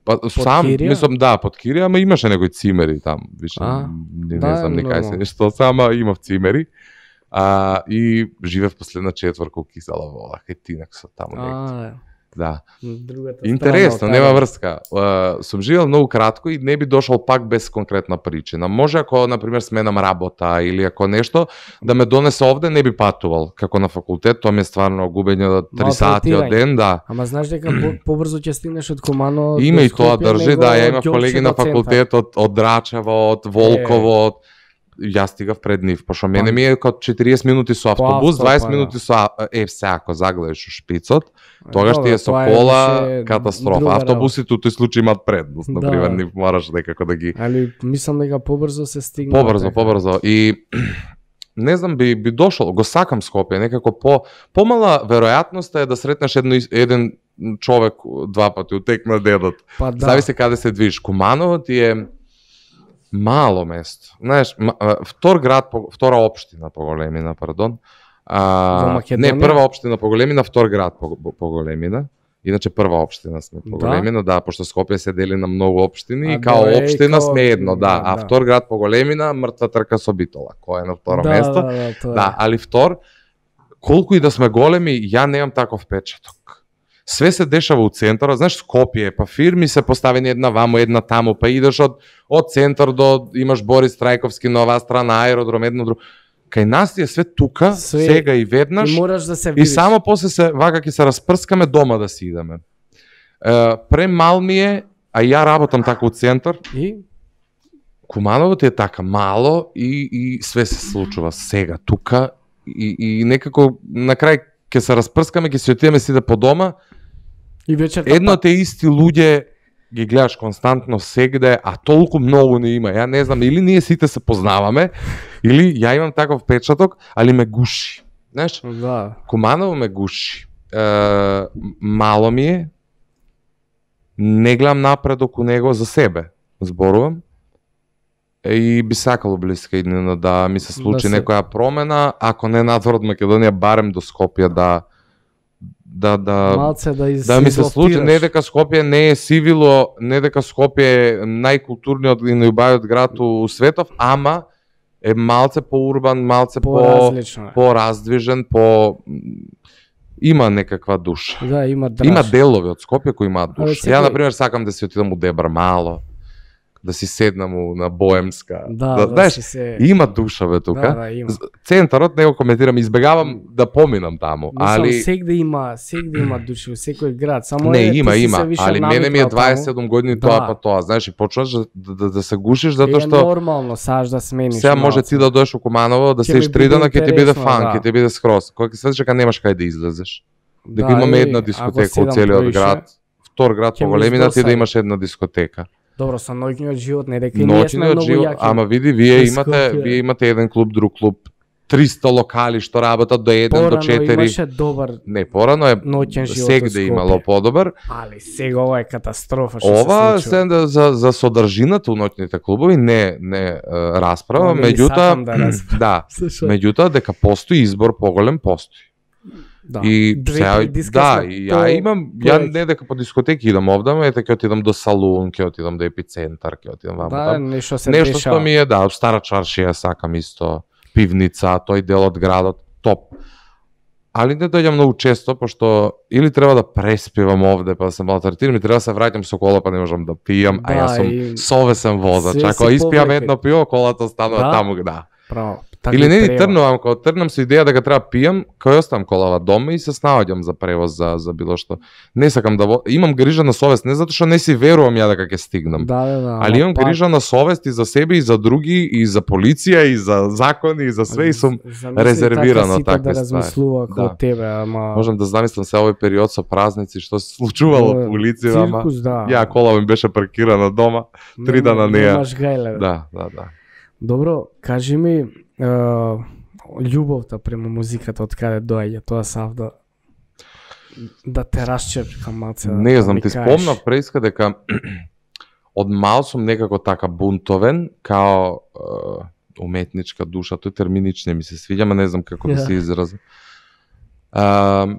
Па, сам, Кирија? мислам, да, под Кирија, ама имаше некои цимери там, више, А, не, да, не знам ни кај се нормално. нешто, сама имав цимери. А, и живеев последна четврка у Кисела вола, кај Тинак со таму негде. А, Да. другата Интересно, страна, нема од врска. Uh, сум живеел многу кратко и не би дошол пак без конкретна причина. Може ако, например, сменам работа или ако нешто, да ме донесе овде, не би патувал. Како на факултет, тоа ми е стварно губење од три сати од ден, да. Ама знаеш дека по- побрзо ќе стигнеш од Кумано Има до и тоа Скопје, држи, него да, ја од имав Ѓорче колеги до на центар. факултет од, од Драчево, од Волково, од јас стигав пред нив, пошто мене ми е како четириесет минути со автобус, авто, дваесет па, да. минути со а- е се ако загледаш у шпицот, тогаш ти Добро, е со тоа кола више катастрофа. друга Автобусите у тој случај имаат предност, Да. например, нив мораш некако да ги Али мислам дека побрзо се стигна. побрзо, дека. побрзо и не знам би би дошол, го сакам Скопје, некако по помала веројатноста е да сретнеш едно еден човек два пати утек на дедот. Па да. Зависи каде се движиш. Куманово ти е мало место. Знаеш, м- а, втор град, по- втора општина по големина, пардон. Во А, Македонија? не, прва општина по големина, втор град по, по, по големина. Иначе прва општина сме по Да? големина, да, пошто Скопје се дели на многу општини А, и као да, е, општина као- сме едно, да, да, а да. втор град по големина, мртва трка со Битола, кој е на второ да, место. Да, да, тоа е. Да, али втор, колку и да сме големи, ја немам таков печаток. Све се дешава у центарот, знаеш, Скопје, па фирми се поставени една ваму, една таму, па идеш од од центар до имаш Борис Трајковски на оваа страна, аеродром, едно друго. кај нас ти е све тука, Све- сега и веднаш, И мораш да се и видиш. само после се вака ќе се распрскаме дома да си идеме. Е, премал ми е, а ја работам така у центар, И Куманово ти е така мало и, и све се случува сега, тука, и, и некако на крај ќе се распрскаме, ќе се отидеме сите по дома, и вечерта едно пак. те исти луѓе ги гледаш константно сегде, а толку многу не има. Ја не знам, или ние сите се познаваме, или ја имам таков печаток, али ме гуши. Знаеш, Да. Куманово ме гуши. Е, мало ми е, не гледам напредок у него за себе, зборувам. Е, и би сакало блиска иднина да ми се случи Да се- некоја промена, ако не надвор од Македонија, барем до Скопје да да да Малце да из да ми се случи, излофтираш. не дека Скопје не е сивило, не дека Скопје е најкултурниот и најубавиот град у светов, ама е малце поурбан, малце по Поразлично е. пораздвижен, по има некаква душа. Да, има драж. Има делови од Скопје кои имаат Абе, душа. секој- Ја на пример сакам да си отидам у Дебар мало, да си седнам у- на Боемска. Да, да, знаеш, си се... има душа бе тука. Да, да, има. Центарот не го коментирам, избегавам да поминам таму, Мислам, али сегде има, сегде има души, во секој град, само не, е, ти има, си има, се више али мене ми е навикнал дваесет и таму. седум години Да. тоа па тоа, знаеш, и почнаш да, да, да се гушиш затоа Е што нормално, саш да смениш. сега може малце. ти да доеш у Куманово, да Ќе седиш ми три биде дана, ќе ти биде интересно, фан, да. ќе ти биде скроз. Кога ќе сведеш дека немаш кај да излезеш. Дека Да, имаме е, една ако дискотека седам у целиот повише, град, втор град ќе по ме големина ти да издосади. имаш една дискотека. Добро, со ноќниот живот не дека и ние сме Ноќниот многу живот, јаки. ама види, вие Во имате, Скопје. вие имате еден клуб, друг клуб, триста локали што работат до еден до Порано четири. имаше добар, Не, порано е ноќен живот сегде у Скопје. имало подобар. али сега ова е катастрофа што Ова се случува. се да, за за содржината у ноќните клубови не не е, расправа, Ама не меѓутоа сакам да расправам. да, Слушај, меѓутоа дека постои избор поголем постои. да. И Две, сега, три диска да, сме и по- ја имам, ја повеќе. не дека по дискотеки идам овде, ама ете ќе отидам до салун, ќе отидам до епицентар, ќе отидам ваму Да, таму. нешто се Нешто дешава. што ми е, да, стара чаршија сакам исто, пивница, тој дел од градот, топ. Али не дојдам многу често, пошто или треба да преспивам овде, па да се малтретирам, и треба да се враќам со кола, па не можам да пијам, а Да, јас сум и совесен возач. све Ако си испијам повлека. едно пиво, колата останува Да? таму, да. Право. Така Или и не ни треба. трнувам, кога трнам со идеја дека треба пијам, кај оставам колава дома и се снаоѓам за превоз за за било што. Не сакам да во... имам грижа на совест, не затоа што не си верувам ја дека ќе стигнам. Да, да, да. Али ама имам пак, грижа на совест и за себе и за други и за полиција и за закони и за све и сум замисли резервиран така од сите такви да ствари. размислува како Да. тебе, ама можам да замислам се овој период со празници што се случувало Е, по улиците, ама циркус, да. ја кола ми беше паркирана дома. три Нема- дана не ја- Немаш гајле. Да, да, да. Добро, кажи ми, е, љубовта према музиката од каде доаѓа, тоа сав да да те расчепка малце. да- Не да знам, ми ти кажеш. спомнав преиска дека од мал сум некако така бунтовен, као е, уметничка душа, тој терминич не ми се свиѓа, ама не знам како да Да. се изразам. Е,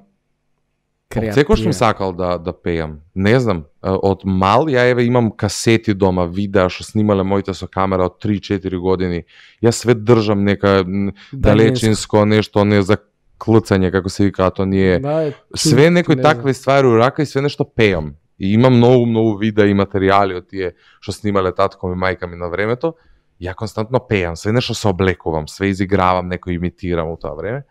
Креативен. Секој сум сакал да да пеам. Не знам, е, од мал ја еве имам касети дома, видеа што снимале моите со камера од три-четири години. Јас све држам нека н, далечинско нешто, не за клцање како се викаат оние. Да, е, Све чу- некои не такви ствари у рака и све нешто пеам. И имам многу многу видеа и материјали од тие што снимале татко ми, мајка ми на времето. Ја константно пеам, све нешто се облекувам, све изигравам, некој имитирам у тоа време.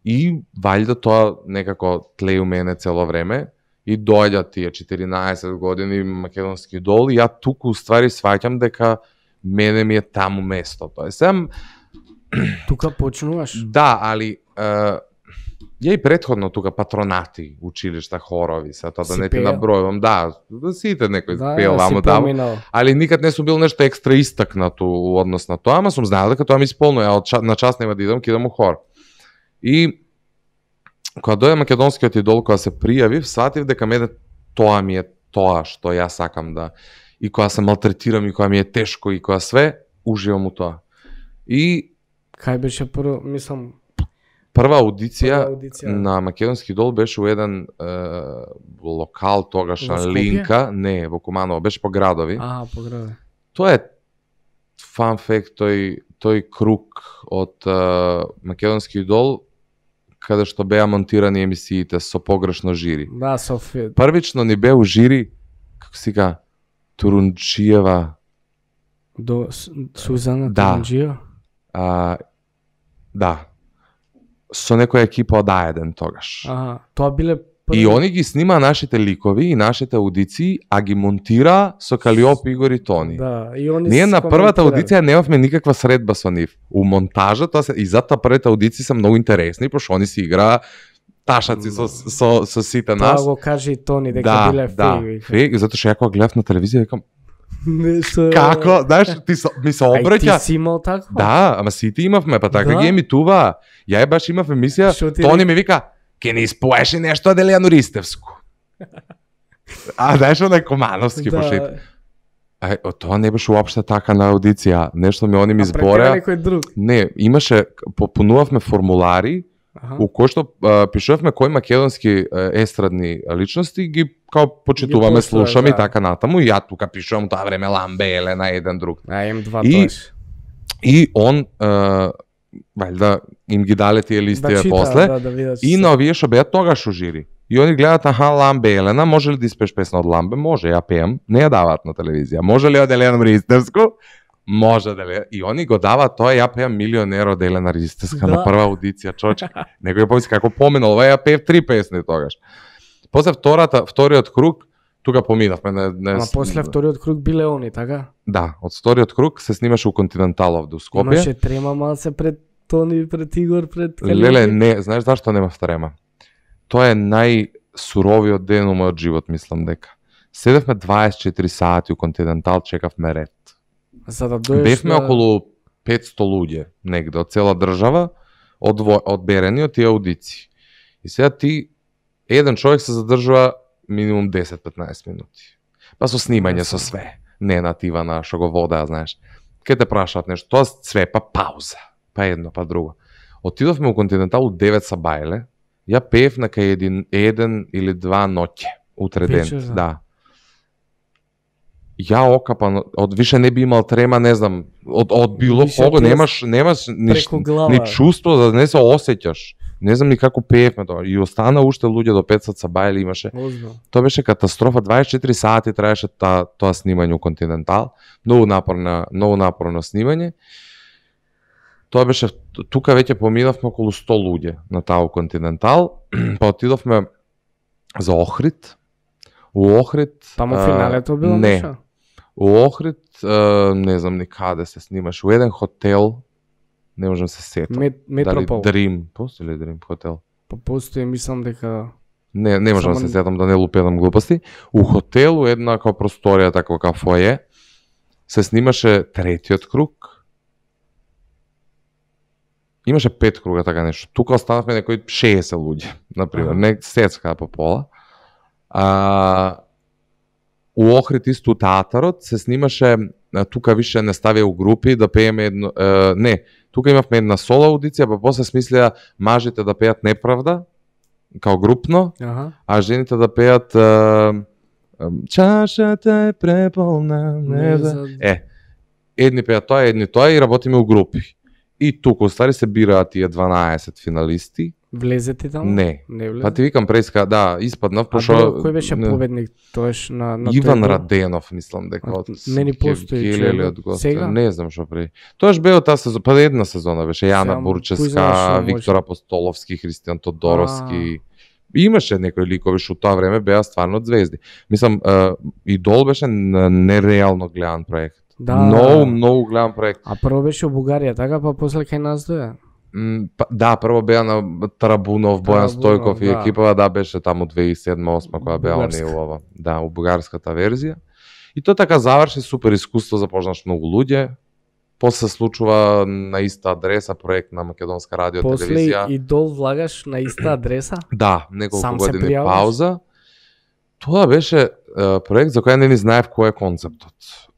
И валјда тоа некако тле у мене цело време и доаѓа тие четиринаесет години македонски идол и ја туку уствари сваќам дека мене ми е таму место. Тоа е сам Тука почнуваш. да, али е, ја и претходно тука патронати, училишта, хорови, се тоа да Си не ти пеел? набројувам, да, да сите некој Да, пеел си ваму таму. поминал. Али никад не сум бил нешто екстра истакнато у однос на тоа, ама сум знаел дека тоа ми исполнува, ја од ча- на час нема да идам, ќе идам у хор. И кога дојде македонскиот идол, кога се пријавив, сватив дека мене тоа ми е тоа што ја сакам да, и кога се малтретирам и кога ми е тешко и кога све, уживам у тоа. И Кај беше прво, мислам, прва аудиција прва аудиција? на македонски идол беше у еден е, локал тогаш Во на Скопје? Линка, не, во Куманово, беше по градови. А, по граде. Тоа е фан факт, тој тој круг од е, македонски идол каде што беа монтирани емисиите со погрешно жири. Да, Софија. Првично ни бе у жири, како си ка, Турунчиева, До С- Сузана Да. Турунџиева. а, Да. Со некоја екипа од А еден тогаш. Аха, тоа биле први... И они ги снима нашите ликови и нашите аудиции, а ги монтира со Калиоп, Игор и Тони. Да, и они Ние се на првата коментирали. аудиција немавме никаква средба со нив. У монтажа, тоа се и затоа првите аудиции се многу интересни, пошто они си играа ташаци со со со сите Тоа нас. го кажи и Тони дека Да, биле да, фейк. фейк, затоа што ја кога гледав на телевизија викам Нешто... како, знаеш, ти со, ми се А и обраќа. ти си имал такво? Да, ама сите имавме, па така Да. ги емитуваа. Ја е баш имав емисија, Шо ти Тони рек- ми вика, ке не испоеше нешто од Елијану Ристевску. А, знаеш, онај Комановски Да. пошли. Ај, о, тоа не беше уопште така на аудиција. Нешто ми они ми А пред тебе збореа. некој друг? Не, имаше, попунувавме формулари, Аха. у кој што а, пишувавме кои македонски а, естрадни личности ги као почитуваме, Ги поштуваш, слушаме да. и така натаму. И ја тука пишувам тоа време Ламбе, Елена, еден друг. А, М два И- тоаш. И он, а, вајда, им ги дале тие листија чита, после. да, да видат И што- на овие што беа тогаш у жири. И они гледаат, аха, Ламбе, Елена, може ли да испееш песна од Ламбе? Може, ја пеам. Не ја даваат на телевизија. Може ли од Елена Ристевску? Може да ли. И они го даваат тоа, ја пеам Милионер од Елена Ристевска Да. на прва аудиција, човече. Некој помисли како поминал, ова ја пеев три песни тогаш. После втората, вториот круг, тука поминавме. Не, не, Ама после вториот круг биле они, така? Да, од вториот круг се снимаше у Континентал овде у Скопје. Имаше трема малце пред Тони, пред Игор, пред Калиоп. Леле, не, знаеш зашто нема втрема? Тоа е најсуровиот ден у мојот живот, мислам дека. Седевме дваесет и четири сати у Континентал, чекавме ред. За да дојдеш Бевме да... околу петсто луѓе негде од цела држава, одво, одберени од тие аудиции. И сега ти, еден човек се задржува минимум десет-петнаесет минути. Па со снимање, со све. Не натива на што го водеа, знаеш. Ке те прашаат нешто, тоа све, па пауза. Па едно, па друго. Отидовме у Континентал у девет са бајле, ја пеев на кај един, еден или два ноќе, утре ден. Вечер, да. Да. Ја окапан, од више не би имал трема, не знам, од, од било Више кого, пес немаш, немаш ни, преку глава. ни чувство за да не се осеќаш. Не знам ни како пеевме тоа. И остана уште луѓе до пет сат са бајле имаше. Озбилно. Тоа беше катастрофа, дваесет и четири сати траеше та, тоа снимање у Континентал. Многу напорно, многу напорно снимање. Тоа беше, тука веќе поминавме околу сто луѓе на таа у Континентал, па отидовме за Охрид. У Охрид... Таму а, финалето било Не. нешто? У Охрид, а, не знам ни каде се снимаше, у еден хотел, не можам се сетам. Мет, Метропол. Дали Дрим, постои ли Дрим хотел? Па постои, мислам дека... Не, не можам да Само- се сетам да не лупедам глупости. У хотелу една како просторија, таква како фоје, се снимаше третиот круг. Имаше пет круга, така нешто. Тука останавме некои шеесет луѓе, например, Аха. не сецка по пола. А, у Охрид исто у театарот се снимаше, а, тука више не ставија у групи да пееме едно, е, не, тука имавме една соло аудиција, па после смислеа мажите да пеат Неправда, као групно, Аха. а жените да пеат е, е, чашата е преполна, не за... Е, едни пеат тоа, едни тоа и работиме у групи. И тука, стари се бираат тие дванаесет финалисти. Влезе ти таму? Не. Не влезе? Па ти викам преска, да, испаднав, А пошо... друго, кој беше не, победник тоеш на, на Иван тој дел? Раденов, мислам дека А, од не ни постои Геле човек. или од Гоце. Сега? Не знам што преди. Тоаш беа таа сезона, па една сезона беше Јана Сега, кој знае Бурческа, што Виктор може. Апостоловски, Христијан Тодоровски. Имаше некои ликови што тоа време беа стварно звезди. Мислам, е, Идол беше н- нереално гледан проект. Да. Многу, многу гледан проект. А прво беше у Бугарија, така, па после кај нас доја. М, па, да, прво беа на Тарабунов, Бојан Тарабунов, Стојков и да. екипава, да, беше таму две тисячи и седма-осма која беа они Бугарска. у ова. Да, у бугарската верзија. И тоа така заврши супер искуство, започнаш многу луѓе. После се случува на иста адреса проект на Македонска радио После телевизија. Идол влагаш на иста адреса? Да, неколку Сам се години пријаваш? пауза. Тоа беше е, проект за кој не ни знаев кој е концептот.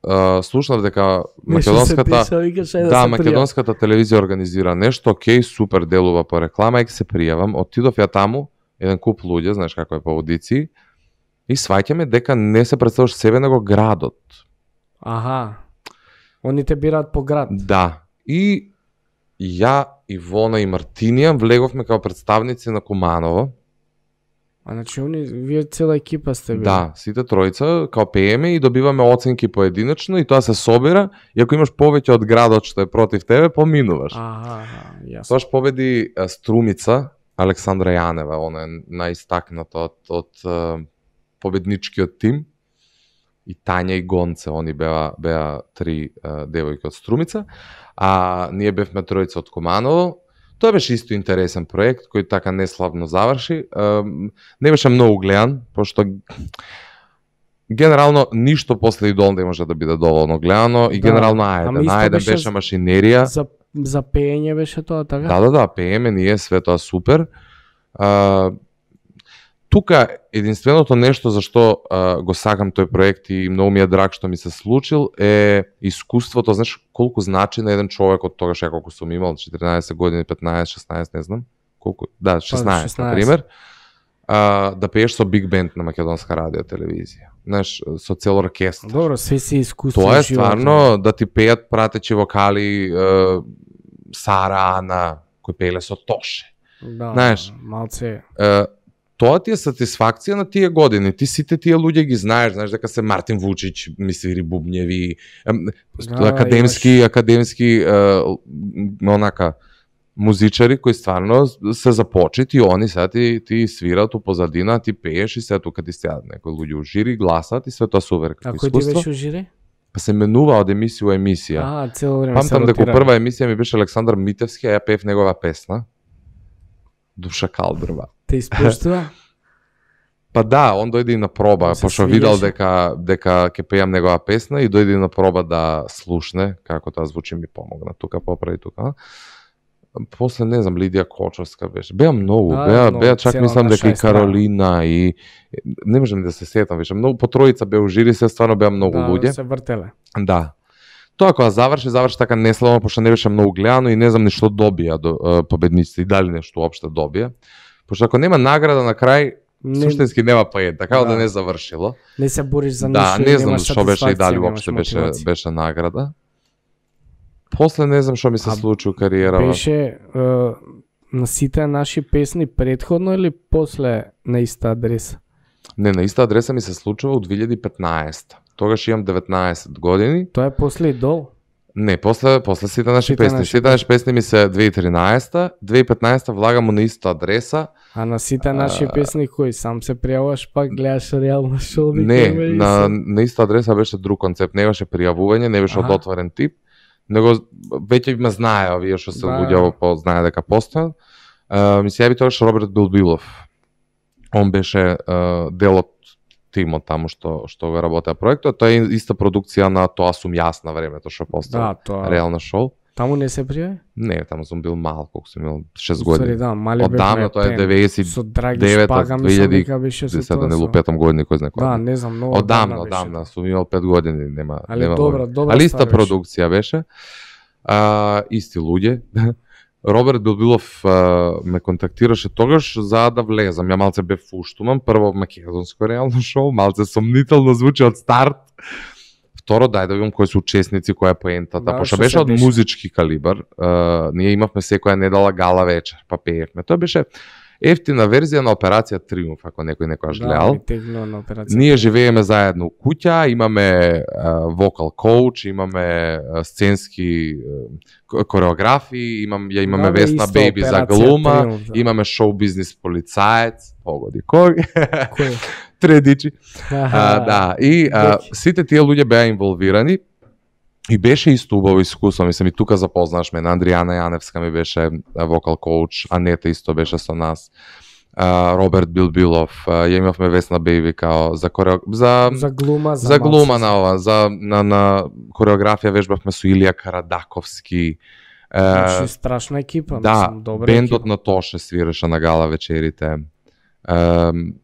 Е, слушнав дека македонската да, Да, македонската телевизија организира нешто, окей, супер, делува по реклама, и се пријавам, отидов ја таму, еден куп луѓе, знаеш како е по аудиции, и сваќаме дека не се представуваш себе него градот. Аха. Они те бираат по град. Да. И ја, Ивона и Мартинија влеговме како представници на Куманово А значи они вие цела екипа сте били. Да, сите тројца као пееме и добиваме оценки поединечно и тоа се собира и ако имаш повеќе од градот што е против тебе, поминуваш. Аха, аха, јасно. Тоаш победи а, Струмица, Александра Јанева, она е најистакната од, од а, победничкиот тим. И Тања и Гонце, они беа, беа три а, девојки од Струмица, а ние бевме тројца од Куманово. Тоа беше исто интересен проект, кој така неславно заврши. А, не беше многу гледан, пошто генерално ништо после Идол не може да биде доволно гледано и Да, генерално ама ајде, исто најде беше беше машинерија. За за пеење беше тоа така? Да, да, да, пееме ние, све тоа супер. А, тука единственото нешто за што а, го сакам тој проект и многу ми е драг што ми се случил е искуството, знаеш колку значи на еден човек од тогаш ја колку сум имал, четиринаесет години, петнаесет, шеснаесет, не знам, колку, да, шеснаесет, на пример, а, да пееш со биг бенд на македонска радио телевизија. Знаеш, со цел оркестар. Добро, све си искуство. Тоа е животно. стварно да ти пеат пратечи вокали е, Сара Ана, кои пееле со Тоше. Да, знаеш, малце. Е, тоа ти е сатисфакција на тие години. Ти сите тие луѓе ги знаеш, знаеш дека се Мартин Вучич, ми свири бубњеви, Да, академски, имаш... академски е, онака музичари кои стварно се започети и они сега ти, ти свират у позадина, ти пееш и се тука ти сеат некои луѓе у жири, гласат и све тоа сувер А како кој ти искуство. беше у жири? Па се менува од емисија у емисија. А, цело време се Памтам дека ротира. прва емисија ми беше Александар Митевски, а ја пеев негова песна. Душа калдрва. Те испуштува? Па да, он дојде и на проба, Се пошто видел свиѓаше. дека дека ќе пеам негова песна и дојде и на проба да слушне како тоа звучи, ми помогна тука поправи тука. После не знам Лидија Кочовска беше. Беа многу, Да, беа многу, беа чак цела мислам дека наша и естрада. Каролина и не можам да се сетам више. Многу по тројца беа у жири, се стварно беа многу Да, луѓе. се вртеле. Да. Тоа кога заврши, заврши така неславно, пошто не беше многу гледано и не знам ни што добија до, е, победниците и дали нешто уопште добија. Пошто ако нема награда на крај, Не, суштински нема поен, така да. Да. да не завршило. не се бориш за Да, ништо. не знам немаш што беше и дали сатисфакција, уопште немаш беше мотивација. беше награда. После не знам што ми се А случи у кариерава. Беше е, на сите наши песни предходно или после на иста адреса? Не, на иста адреса ми се случува у две илјади и петнаесета. Тогаш имам деветнаесет години. Тоа е после Идол? Не, после после сите наши Сите песни. наши Сите наши песни ми се две илјади и тринаесета, две илјади и петнаесета влагам на иста адреса. А на сите наши А, песни кои сам се пријавуваш пак гледаш реално шоу? Не, на, на иста адреса беше друг концепт, не беше пријавување, не беше од Аха. отворен тип, него веќе ме знае овие што се Да. луѓе во по знае дека постојат. Uh, ми се јави тогаш Роберт Билбилов. Он беше uh, дел од тимот таму што што го работеа проектот. Тоа е иста продукција на Тоа сум јас на времето што постои. Да, тоа. Реално шоу. Таму не се пријави? Не, таму сум бил мал, колку сум имал шест Уствари, години. да, мали Одамна, бевме тоа е пен. деветдесет и Со Драги девета, Шпага, мислам две илјади дека беше со десета, тоа. не со- лупетам години кој знае кој. Да, не знам, многу Одамна, беше одамна, тоа. сум имал пет години, нема Али нема. добра, врска. добра Али иста ствар беше. продукција беше. А, исти луѓе. Роберт Билбилов а, ме контактираше тогаш за да влезам. Ја малце бев фуштуман, прво македонско реално шоу, малце сомнително звучи од старт. Второ, дај да видам кои се учесници, која е поентата, Да, пошто што беше се од деша. музички калибар. А, ние имавме секоја недела гала вечер, па пеевме. Тоа беше ефтина верзија на Операција Триумф, ако некој некојаш Да, гледал. ми тегнува на операција. Ние живееме заедно у куќа, имаме а, вокал коуч, имаме а, сценски а, кореографи, имам, ја имаме Да, бе, Весна исто Бејби за Операција глума, Триумф, да. имаме шоу бизнис полицаец, погоди кој, Кој? тредичи. А, да, и а, сите тие луѓе беа инволвирани и беше исто убаво искуство, мислам и тука запознаш мене, Андријана Јаневска ми беше а, вокал коуч, Анета исто беше со нас. Uh, Роберт Билбилов, uh, ја имавме Весна Бејби као за корео... за За глума, за, за глума малце. на ова, за на на кореографија вежбавме со Илија Карадаковски. Uh, Значи, страшна екипа, да, мислам, добра бендот екипа. на Тоше свиреше на гала вечерите. Uh,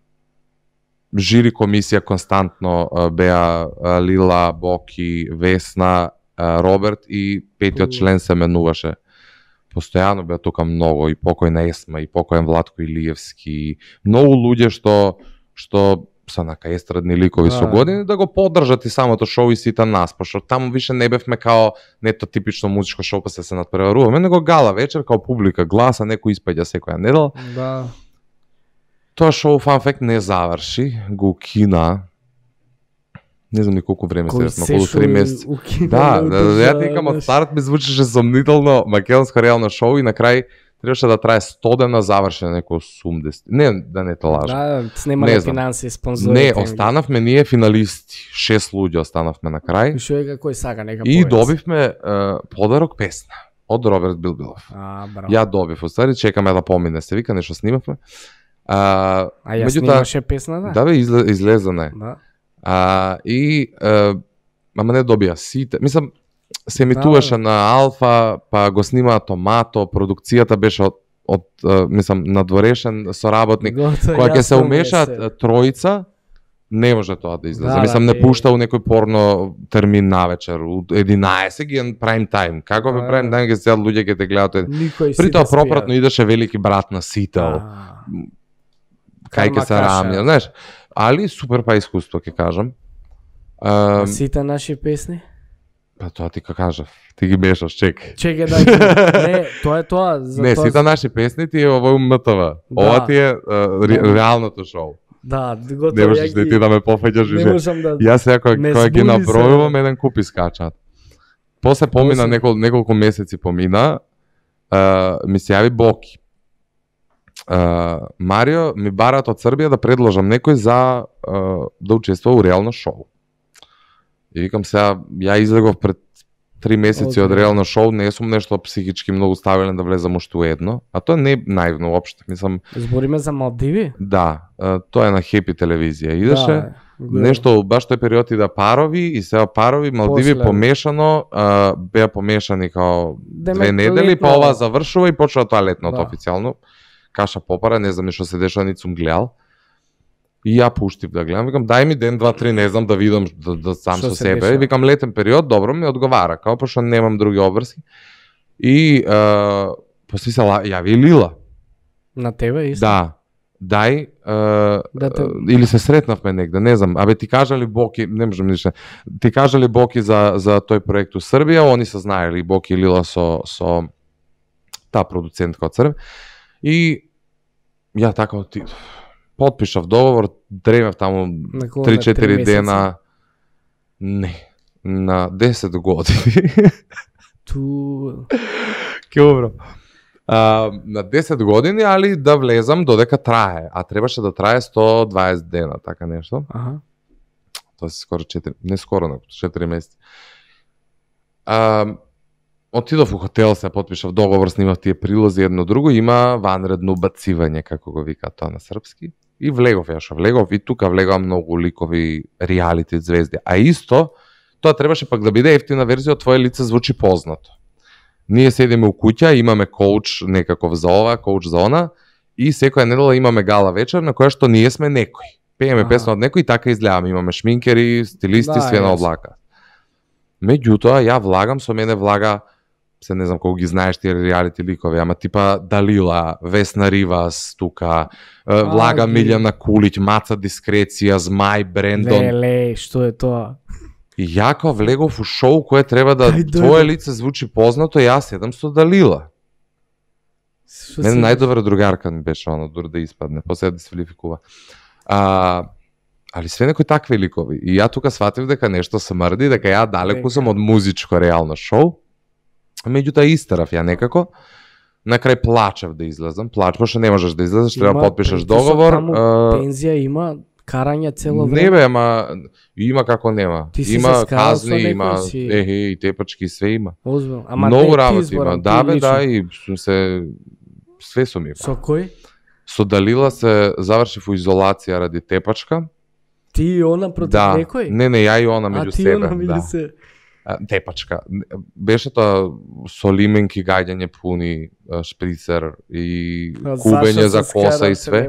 жири комисија константно uh, беа uh, Лила, Боки, Весна, uh, Роберт и петиот Мм. член се менуваше. Постојано беа тука многу и покојна Есма и покојен Владко Илиевски, многу луѓе што што се нака естрадни ликови Да. со години да го поддржат и самото шоу и сите нас, пошто таму више не бевме као нето типично музичко шоу па се се надпреваруваме, него гала вечер као публика гласа, некој испаѓа секоја недела. Да. Тоа шоу Fun Fact не заврши, го укина. Не знам ни колку време се, околу три месеци. Да, да, ја ти викам, од старт ми звучеше сомнително македонско реално шоу и на крај требаше да трае сто дена, заврши на некој осумдесет. Не, да не те лажам. Да, снимале финанси, спонзори. Не, останавме ние финалисти. Шест луѓе останавме на крај. И што е кој сака нека И добивме uh, подарок песна од Роберт Билбилов. А, браво. Ја добив, остави, чекаме да помине, се вика, нешто снимавме. А, а ја снимаше песна, да? Да бе, изле, излезена е. Да. А, и, а, ама не добија сите. Мислам, се емитуваше да, на Алфа, па го снимаа Томато, продукцијата беше од, од мислам, надворешен соработник. Кога ќе се умешаат тројца, не може тоа да излезе. Да, мислам, да, не пушта у некој порно термин навечер, у единаесет ги е прайм тајм. Како бе прайм тајм, ќе се луѓе ќе те гледаат. При тоа пропратно идеше Велики брат на Сител. Кај ќе се рамја, знаеш. Али супер па искуство, ќе кажам. А, сите наши песни? Па тоа ти ка кажав, ти ги мешаш, чекај. Чекај, да, не, тоа е тоа. За не, тоа... сите наши песни ти е овој М Т В. Да. Ова ти е uh, ре, реалното шоу. Да, готово. Не можеш да ти да ме пофаќаш. Не можам да... Јас сега кога ги набројувам, еден куп искачат. После помина, После... некол, неколку месеци помина, uh, ми се јави Боки. Uh, Марио, ми барат од Србија да предложам некој за uh, да учествува у реално шоу. И викам сега, ја излегов пред три месеци okay. од реално шоу, не сум нешто психички многу ставилен да влезам уште у едно, а тоа не е наивно уопште, мислам. Збориме за Малдиви? Да, uh, тоа е на Хепи телевизија. Идеше да, нешто баш тој период и да парови и сега парови, Малдиви После... помешано, uh, беа помешани као две недели, па ова завршува и почува тоа летното да. Официјално. Каша попара, не знам што се дешава, нит сум гледал. И ја пуштив да гледам, викам дај ми ден, два, три, не знам да видам да, да сам шо со себе. Деша? Викам летен период, добро ми одговара, као пошто немам други обврски. И uh, после се јави Лила. На тебе исто? Да. Дај uh, да те... или се сретнавме негде, не знам. Абе ти кажа ли Боки, не можам ништо. Ти кажа ли Боки за за тој проект у Србија, они се знаели Боки и Лила со со таа продуцентка од Србија. И ја така отидов. Потпишав договор, дремев таму три-четири дена. Не, на десет години. Ту... Ке убро. А, на десет години, али да влезам додека трае. А требаше да трае сто дваесет дена, така нешто. Аха. Тоа се скоро четири, не скоро, но четири месеци. А, Отидов у хотел, се потпишав договор, снимав тие прилози едно друго, има ванредно убацивање, како го вика тоа на српски. И влегов, ја шо влегов, и тука влегав многу ликови реалити звезди. А исто, тоа требаше пак да биде ефтина верзија, од твое лице звучи познато. Ние седиме у куќа, имаме коуч некаков за ова, коуч за она, и секоја недела имаме гала вечер, на која што ние сме некој. Пееме песна од некој и така изгледаме. Имаме шминкери, стилисти, да, све на облака. Меѓутоа, ја влагам, со мене влага се не знам колку ги знаеш тие реалити ликови, ама типа Далила, Весна Ривас, тука, влага Милјана Кулиќ, Маца Дискреција, Змај, Брендон. Леле, што е тоа? И ја кога влегов у шоу кое треба да Ај, твое лице звучи познато, јас седам со Далила. Мене најдобра другарка ми беше оно, дур да испадне, после да дисфилификува. А, али све некои такви ликови. И ја тука сватив дека нешто се мрди, дека ја далеку сум од музичко реално шоу. Меѓутоа истерав ја некако. На крај плачев да излезам, плач, пошто не можеш да излезеш, треба да потпишеш договор. Таму пензија има, карање цело време. Не бе, ама има како нема. Има казни, има си... ехе и тепачки, све има. Озбил. Ама многу работи има. Да бе, да, и сум се све сум има. Со кој? Со Далила се завршив у изолација ради тепачка. Ти и она против да. Некој? Не, не, ја и она меѓу себе. А ти она меѓу да. се. Тепачка. Беше тоа со лименки, гаѓање пуни, шприцер и кубење за коса и све.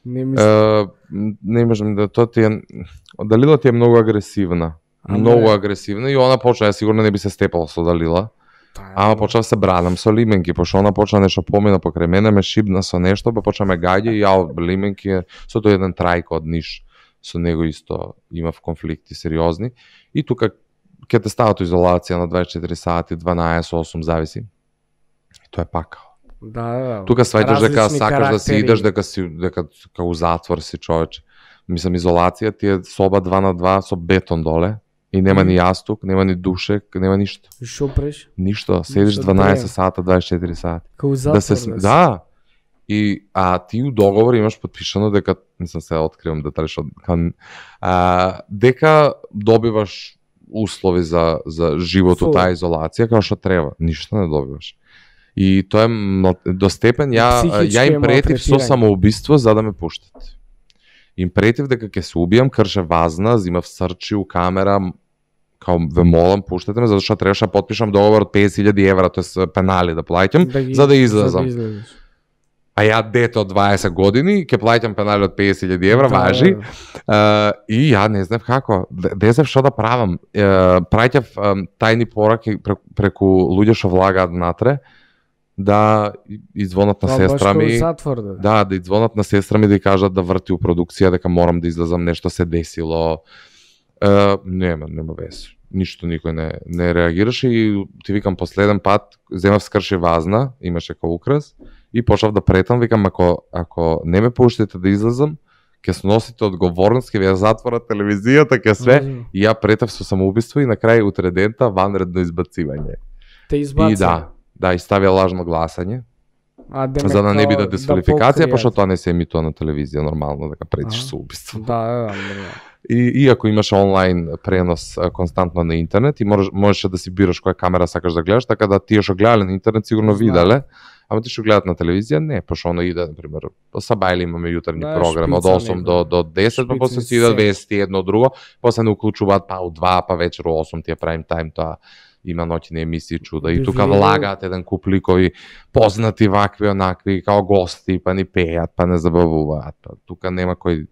Не мислам. Не можам да тоа ти е... Далила ти е многу агресивна. А многу не. агресивна и она почна, ја сигурно не би се степала со Далила. Ама почна да се бранам со лименки, пошто она почна нешто помина покрај мене, ме шибна со нешто, па почна ме гаѓа и ја лименки, со тој еден трајко од Ниш, со него исто имав конфликти сериозни. И тука ќе те стават изолација на дваесет и четири сати, дванаесет осум зависи. И тоа е пакао. Да, да. Тука сваќаш дека Различни сакаш да си карактери. идеш, дека си дека како у затвор си човече. Мислам изолација ти е соба два на два со бетон доле и нема Мгм. ни јастук, нема ни душек, нема ништо. И шо преш? Ништо, седиш Ништо, дванаесет дрем. сата, дваесет и четири сати. Као затвор. Да се см- да. И а ти у договор имаш потпишано дека мислам се откривам детали што кан а дека добиваш услови за за живот у Фул. таа изолација како што треба. Ништо не добиваш. И тоа е мно- до степен ја Психички ја е им претив со малтретирање. самоубиство за да ме пуштат. Им претив дека ќе се убијам, крше вазна, зимав срчи у камера, м- као ве молам пуштете ме, затоа што требаше да потпишам договор од песет илјади евра, тоа пенали да плаќам, ги- за да излезам. За да излезеш. А ја дете од дваесет години, ќе плаќам пенали од песет илјади евра, Да, важи. да. Uh, и ја не знам како, не знам што да правам. Uh, праќав um, тајни пораки преку, преку луѓе што влагаат внатре, да извонат на Тоа сестра баш као ми. затвор, да. Да, да извонат на сестра ми да ја кажат да врти у продукција, дека морам да излезам, нешто се десило. Uh, нема, нема вес. Ништо никој не, не реагираше и ти викам последен пат, земав скрши вазна, имаше као украс, и почнав да претам, викам, ако, ако не ме пуштите да излезам, ќе сносите одговорност, ќе ви ја затворат телевизијата, ќе све. Мгм. И ја претав со самоубиство и на крај утре дента ванредно избацивање. Те избаци. И да, да, и ставија лажно гласање, А, демек, за да не као биде дисквалификација, покријат. пошто тоа не се емитува на телевизија нормално, дека претиш Аха. со убиство. Да, да, да. нормално. И иако имаше онлайн пренос а, константно на интернет и можеш, можеше да си бираш која камера сакаш да гледаш, така да тие што гледале на интернет сигурно Знаат. виделе, ама ти што гледат на телевизија не, пошто оно иде, на пример, по Сабајле имаме јутрени Да, програм од шпица осум некоја. до до десет, па после Шпицни си идат сцени. вести едно друго, после не уклучуваат па у два, па вечер у осум тие прайм тајм, тоа има ноќни емисии чуда и Би тука видел- влагаат еден куп ликови познати вакви онакви као гости, па ни пеат, па не забавуваат. Па тука нема кој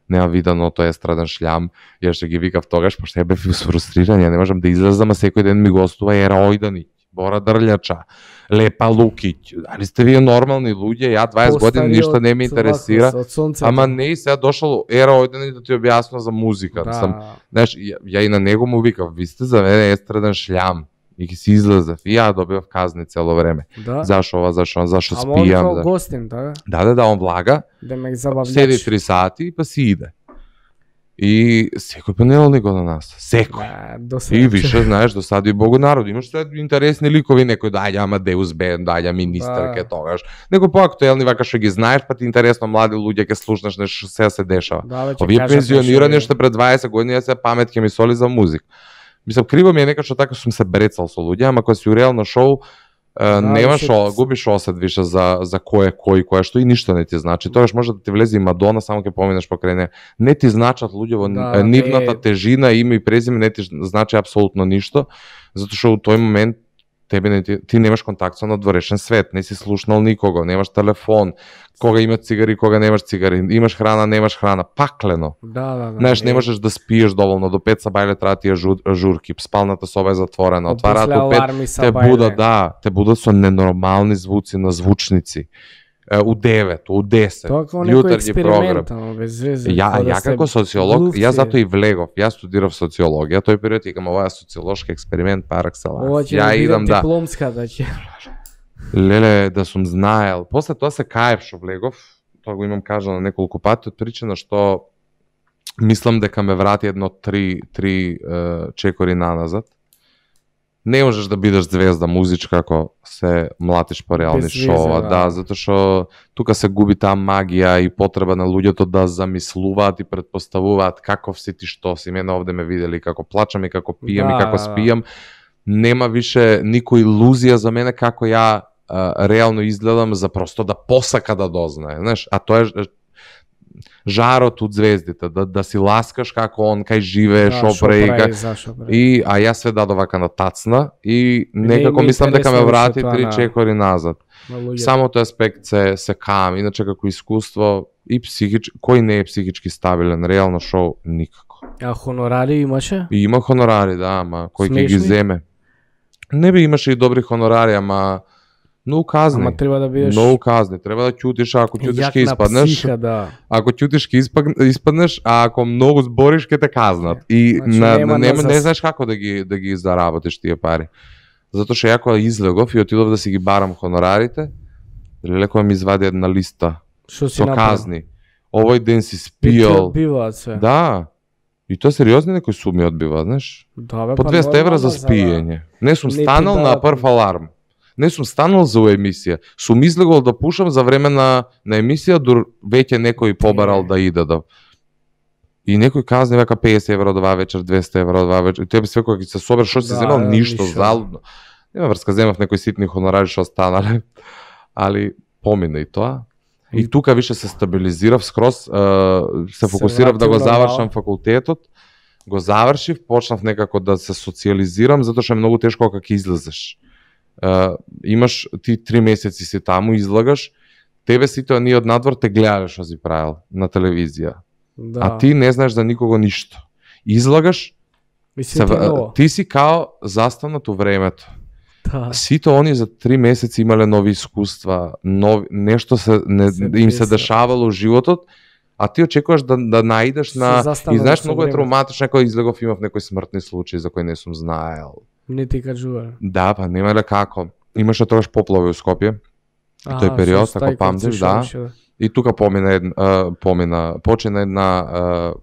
нема видано тој естраден шлям. Ја што ги викав тогаш, пошто ја бев фрустриран, ја не можам да излезам, а секој ден ми гостува Ера Ојданич, Бора Дрљача, Лепа Лукиќ. Дали сте вие нормални луѓе? Ја дваесет години Постари ништо од не ме интересира. вако, од сонцето. Ама не и сега дошол Ера Ојданич да ти објасна за музика. Да. Сам, знаеш, ја, ја и на него му викав, ви сте за мене естраден шлям. И ги си излезав. И ја добивав казни цело време. Да. Зашо ова, зашо ова, зашо Ама он спијам. као За... гостин, да? Да, да, да, он влага. Демек забавлjač. Седи три сати па си иде. И секој понеделник го на нас. Секој. Да, до сега. И више, знаеш, досади Богу народ. Имаш се интересни ликови, некој доаѓа Амадеус Бен, доаѓа министерке Да. тогаш. Некој поактуелни вака што ги знаеш, па ти интересно млади луѓе ќе слушнеш нешто што сега се дешава. Да, бе, ќе Овие кажат пензионирани нешто, што пред дваесет години ја се памет ќе ми соли за музик. Мислам, криво ми е некад што така сум се брецал со луѓе, ама кога си у реално шоу, Uh, Да, немаш, више- о, губиш осет више за, за кој е кој, кој е што и ништо не ти значи. Тогаш може да ти влезе и Мадона, само ќе поминеш покрај неа. Не ти значат луѓе во Да, да, нивната не- тежина, име и презиме не ти значи апсолутно ништо, затоа што у тој момент тебе не ти, ти немаш контакт со надворешен свет, не си слушнал никого, немаш телефон, кога има цигари, кога немаш цигари, имаш храна, немаш храна, паклено. Да, да, да. Знаеш, не можеш да спиеш доволно, до пет Сабајле треба ти е жур, журки, спалната соба е затворена, Од отвараат после до пет, аларми са те бајле. будат, да, те будат со ненормални звуци на звучници. Е, у девет, у десет, Тоа како некој јутренји програм. експеримент, ама без везе. Ја, како да ја се како социолог, глувци. ја затоа и влегов, ја студирав социологија, тој период викам ова е социолошки експеримент пар Ова екселанс. ќе Ја биде идам да, дипломската ќе. леле, да сум знаел. После тоа се каев што влегов, тоа го имам кажано неколку пати, од причина што мислам дека ме врати едно три, три е, чекори наназад. Не можеш да бидеш звезда музичка ако се млатиш по реални Без везе, шоуа, да. да, затоа што тука се губи таа магија и потреба на луѓето да замислуваат и предпоставуваат каков си ти, што си. Мене овде ме видели како плачам и како пијам Да, и како да, да. спијам. Нема више никој илузија за мене како ја а, реално изгледам за просто да посака да дознае, знаеш, а тоа е жарот од звездите, да, да си ласкаш како он, кај живее, Да, шо шо прави, прави, ка- зашо прави. и а јас све дадов вака на тацна и некако ми мислам дека ме интересно врати више тоа три на- чекори назад. На луѓето. Само тој аспект се се каам, иначе како искуство и психич, кој не е психички стабилен, реално шоу никако. А хонорари имаше? И има хонорари, да, ама кој ќе ги Смешни? земе? Не би имаше и добри хонорари, ама многу казни. Ама треба да бидеш Многу казни, треба да ќутиш, а ако ќутиш јак ќе на испаднеш. психа, да. Ако ќутиш ќе испаг- испаднеш, а ако многу збориш ќе те казнат. И Значи, на, нема не, назас. не знаеш како да ги да ги заработиш тие пари. Затоа што ја кога излегов и отидов да си ги барам хонорарите, леко ми извади една листа Што си со направил? казни. Овој ден си И ти спиел. одбиваат се. Да. И тоа сериозни некои суми одбива, знаеш? Да, бе, По па двеста евра за нормално, спиење. Не сум Не ти станал на дадат- прв аларм. Не сум станал за емисија. Сум излегол да пушам за време на, на емисија, дур веќе некој побарал Е. да иде да... И некој казне века песет евра од оваа вечер, двеста евра од оваа вечер. И тебе све кога ќе се собереш, што си Да, земал, да, ништо, ништо. залудно. Нема врска, земав некои ситни хонорари што останале. Али помина и тоа. И И- тука више се стабилизирав скроз, е, се Се фокусирав да го вратил завршам нормално. факултетот, го завршив, почнав некако да се социализирам, затоа што е многу тешко кога ќе излезеш. Е, имаш ти три месеци си таму, излагаш, тебе сите оние од надвор те гледале што си правил на телевизија, Да. а ти не знаеш за никого ништо. Излагаш, Мислим, се, ти ново. ти си као застанат у времето. Да. Сите они за три месеци имале нови искуства, нови, нешто се не, Се им се десило. дешавало во животот, а ти очекуваш да да наидеш Се на застанало и знаеш со многу е времето. травматично кој излегов имав некои смртни случаи за кои не сум знаел. Не ти кажува. Да, па немале како. Имаше тогаш поплави у Скопје. И тој период, ако памтиш, да. И тука помина една, а, помина, почина една а,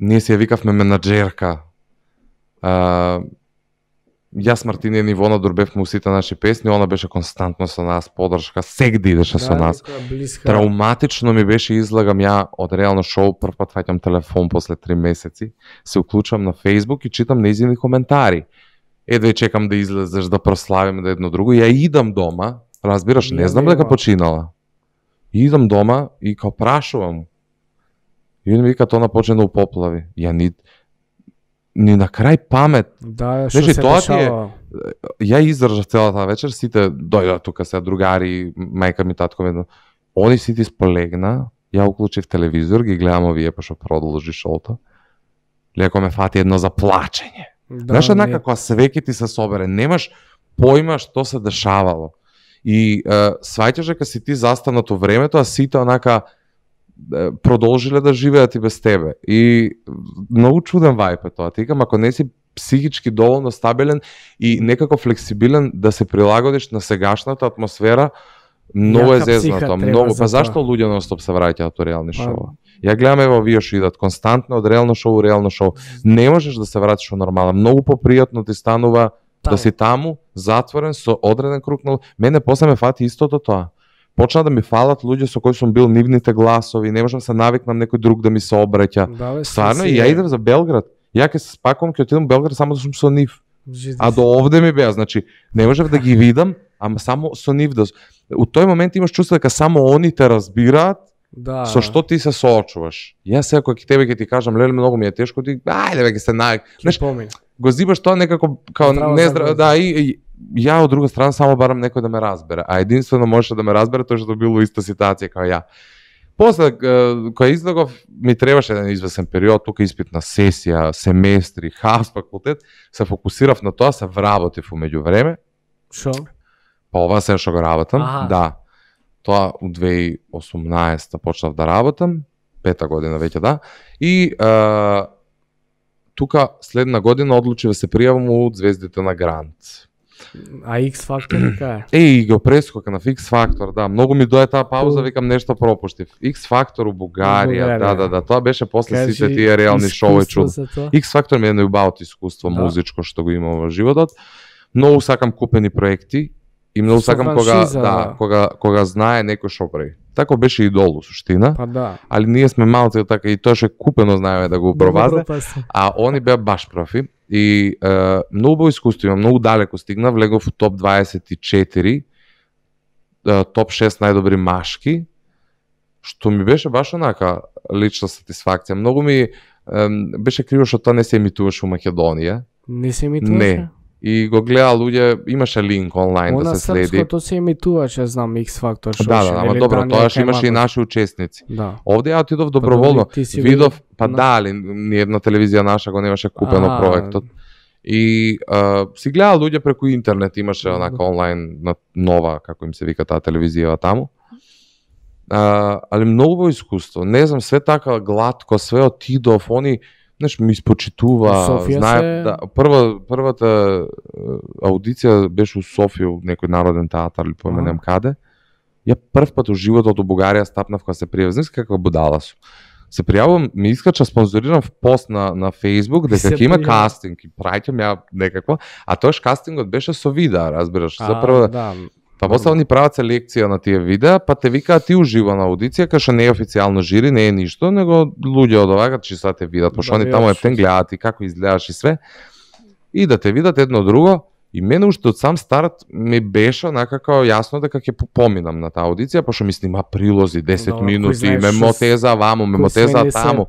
ние се ја викавме менаџерка. А, Јас, Мартинија и Ивона дурбевме сите наши песни, она беше константно со нас, подршка, сегде идеше со нас. Трауматично ми беше, излагам ја од реално шоу, прв пат фаќам телефон после три месеци, се уклучувам на Facebook и читам нејзини коментари. Едва чекам да излезеш, да прославиме да едно друго, ја идам дома, разбираш, не Ја знам нема. дека починала. Идам дома и као прашувам. И он ми вика тоа почна у поплави. Ја ни ни на крај памет. Да, Знаеш, што се тоа ти е- дешава? Ја издржав целата вечер, сите дојдоа тука се другари, мајка ми, татко ми. Они сите сполегна, ја уклучив телевизор, ги гледам овие па што продолжи шоуто. Леко ме фати едно заплачење. Да, Знаеш, не. однака кога свеќе ти се собере, немаш појма што се дешавало. И е, сваќаш дека си ти застанат во времето, а сите онака е, продолжиле да живеат и без тебе. И многу чуден вајп е тоа. Ти викам, ако не си психички доволно стабилен и некако флексибилен да се прилагодиш на сегашната атмосфера, многу е Јака психа зезнато, треба многу. за Па зашто тоа. луѓе нон-стоп се враќаат во реални Па, шоу? Ја гледам ево вие што идат константно од реално шоу у реално шоу. Не можеш да се вратиш во нормала. Многу попријатно ти станува Таму. да си таму, затворен со одреден круг на... Мене после ме фати истото тоа. Почна да ми фалат луѓе со кои сум бил нивните гласови, не можам се навикнам некој друг да ми се обраќа. Да, бе, Стварно, си и ја е. идам за Белград. Ја ќе се спакувам, ќе отидам во Белград само да сум со нив. Жиди А се. до овде ми беа, значи, не можев да ги видам, ама само со нив да... У тој момент имаш чувство дека само они те разбираат, Да. со што ти се соочуваш. Јас сега кога ќе тебе ќе ти кажам, леле, многу ми е тешко, ти, ајде бе, ќе се навик. Ќе Знаеш, помине. го зибаш тоа некако као Здраво не за здраво, глас. да, и, и ја од друга страна само барам некој да ме разбере, а единствено можеше да ме разбере тој што бил во иста ситуација као ја. После е, кога излегов ми требаше еден извесен период, тука испитна сесија, семестри, хас факултет, се фокусирав на тоа, се вработив умеѓу време, Шо? па ова се што го работам, Аха. да. Тоа у две илјади и осумнаесета почнав да работам, пета година веќе да, и е, тука следна година одлучив да се пријавам у Звездите на Грант. А X Factor кај? Еј, го прескокнав X Factor, да, многу ми дое таа пауза, Ту. викам нешто пропуштив. X Factor у Бугарија, Бугарија. да, да, да, тоа беше после Кажи, сите тие реални шоуи искуство чудо. за тоа? X Factor ми е најубавото искуство Да. музичко што го имам во животот. Многу сакам купени проекти и многу Со сакам кога франшиза, да, да. кога кога знае некој што прави. Тако беше идол у суштина, Па да. али ние сме малци така и тоа што е купено знаеме да го провазне. А они беа баш профи и е, многу убаво искуство имам, многу далеко стигнав, влегов у топ дваесет и четири, е, топ шест најдобри машки, што ми беше баш онака лична сатисфакција. Многу ми е, беше криво што тоа не се емитуваше у Македонија. Не се ми Не. И го гледа луѓе, имаше линк онлайн Она да се следи. српското се емитуваше, знам, X Factor шоу. Да, да, ама добро, тоа што имаше и наши учесници. Да. Овде ја отидов доброволно. добри, ти си Видов, бил па на- да, али ни една телевизија наша го немаше купено А. проектот. И а, си гледа луѓе преку интернет, имаше онака онлайн на нова, како им се вика таа телевизија таму. А, али многу во искуство. Не знам, све така гладко, све отидов, они Знаеш, ми испочитува, знае, се... да, прва, првата аудиција беше у Софија, у некој народен театар или поменем каде. Ја прв пат у животот у Бугарија стапнав кога се пријавив. Знаеш каква будала сум. Се пријавувам, ми искача спонзориран в пост на на Facebook дека ќе има кастинг и праќам ја некакво, а тоаш кастингот беше со видеа, разбираш. За прво да. Па после ни прават селекција на тие видеа, па те викаат ти ужива на аудиција, кај што не е официјално жири, не е ништо, него луѓе од овака че са те видат, пошто они таму ептен гледаат и како изгледаш и све. И да те видат едно друго, и мене уште од сам старт ми беше некако јасно дека ќе поминам на таа аудиција, пошто ми снима прилози десет no, минути, ме мотеза ваму, ме мотеза таму.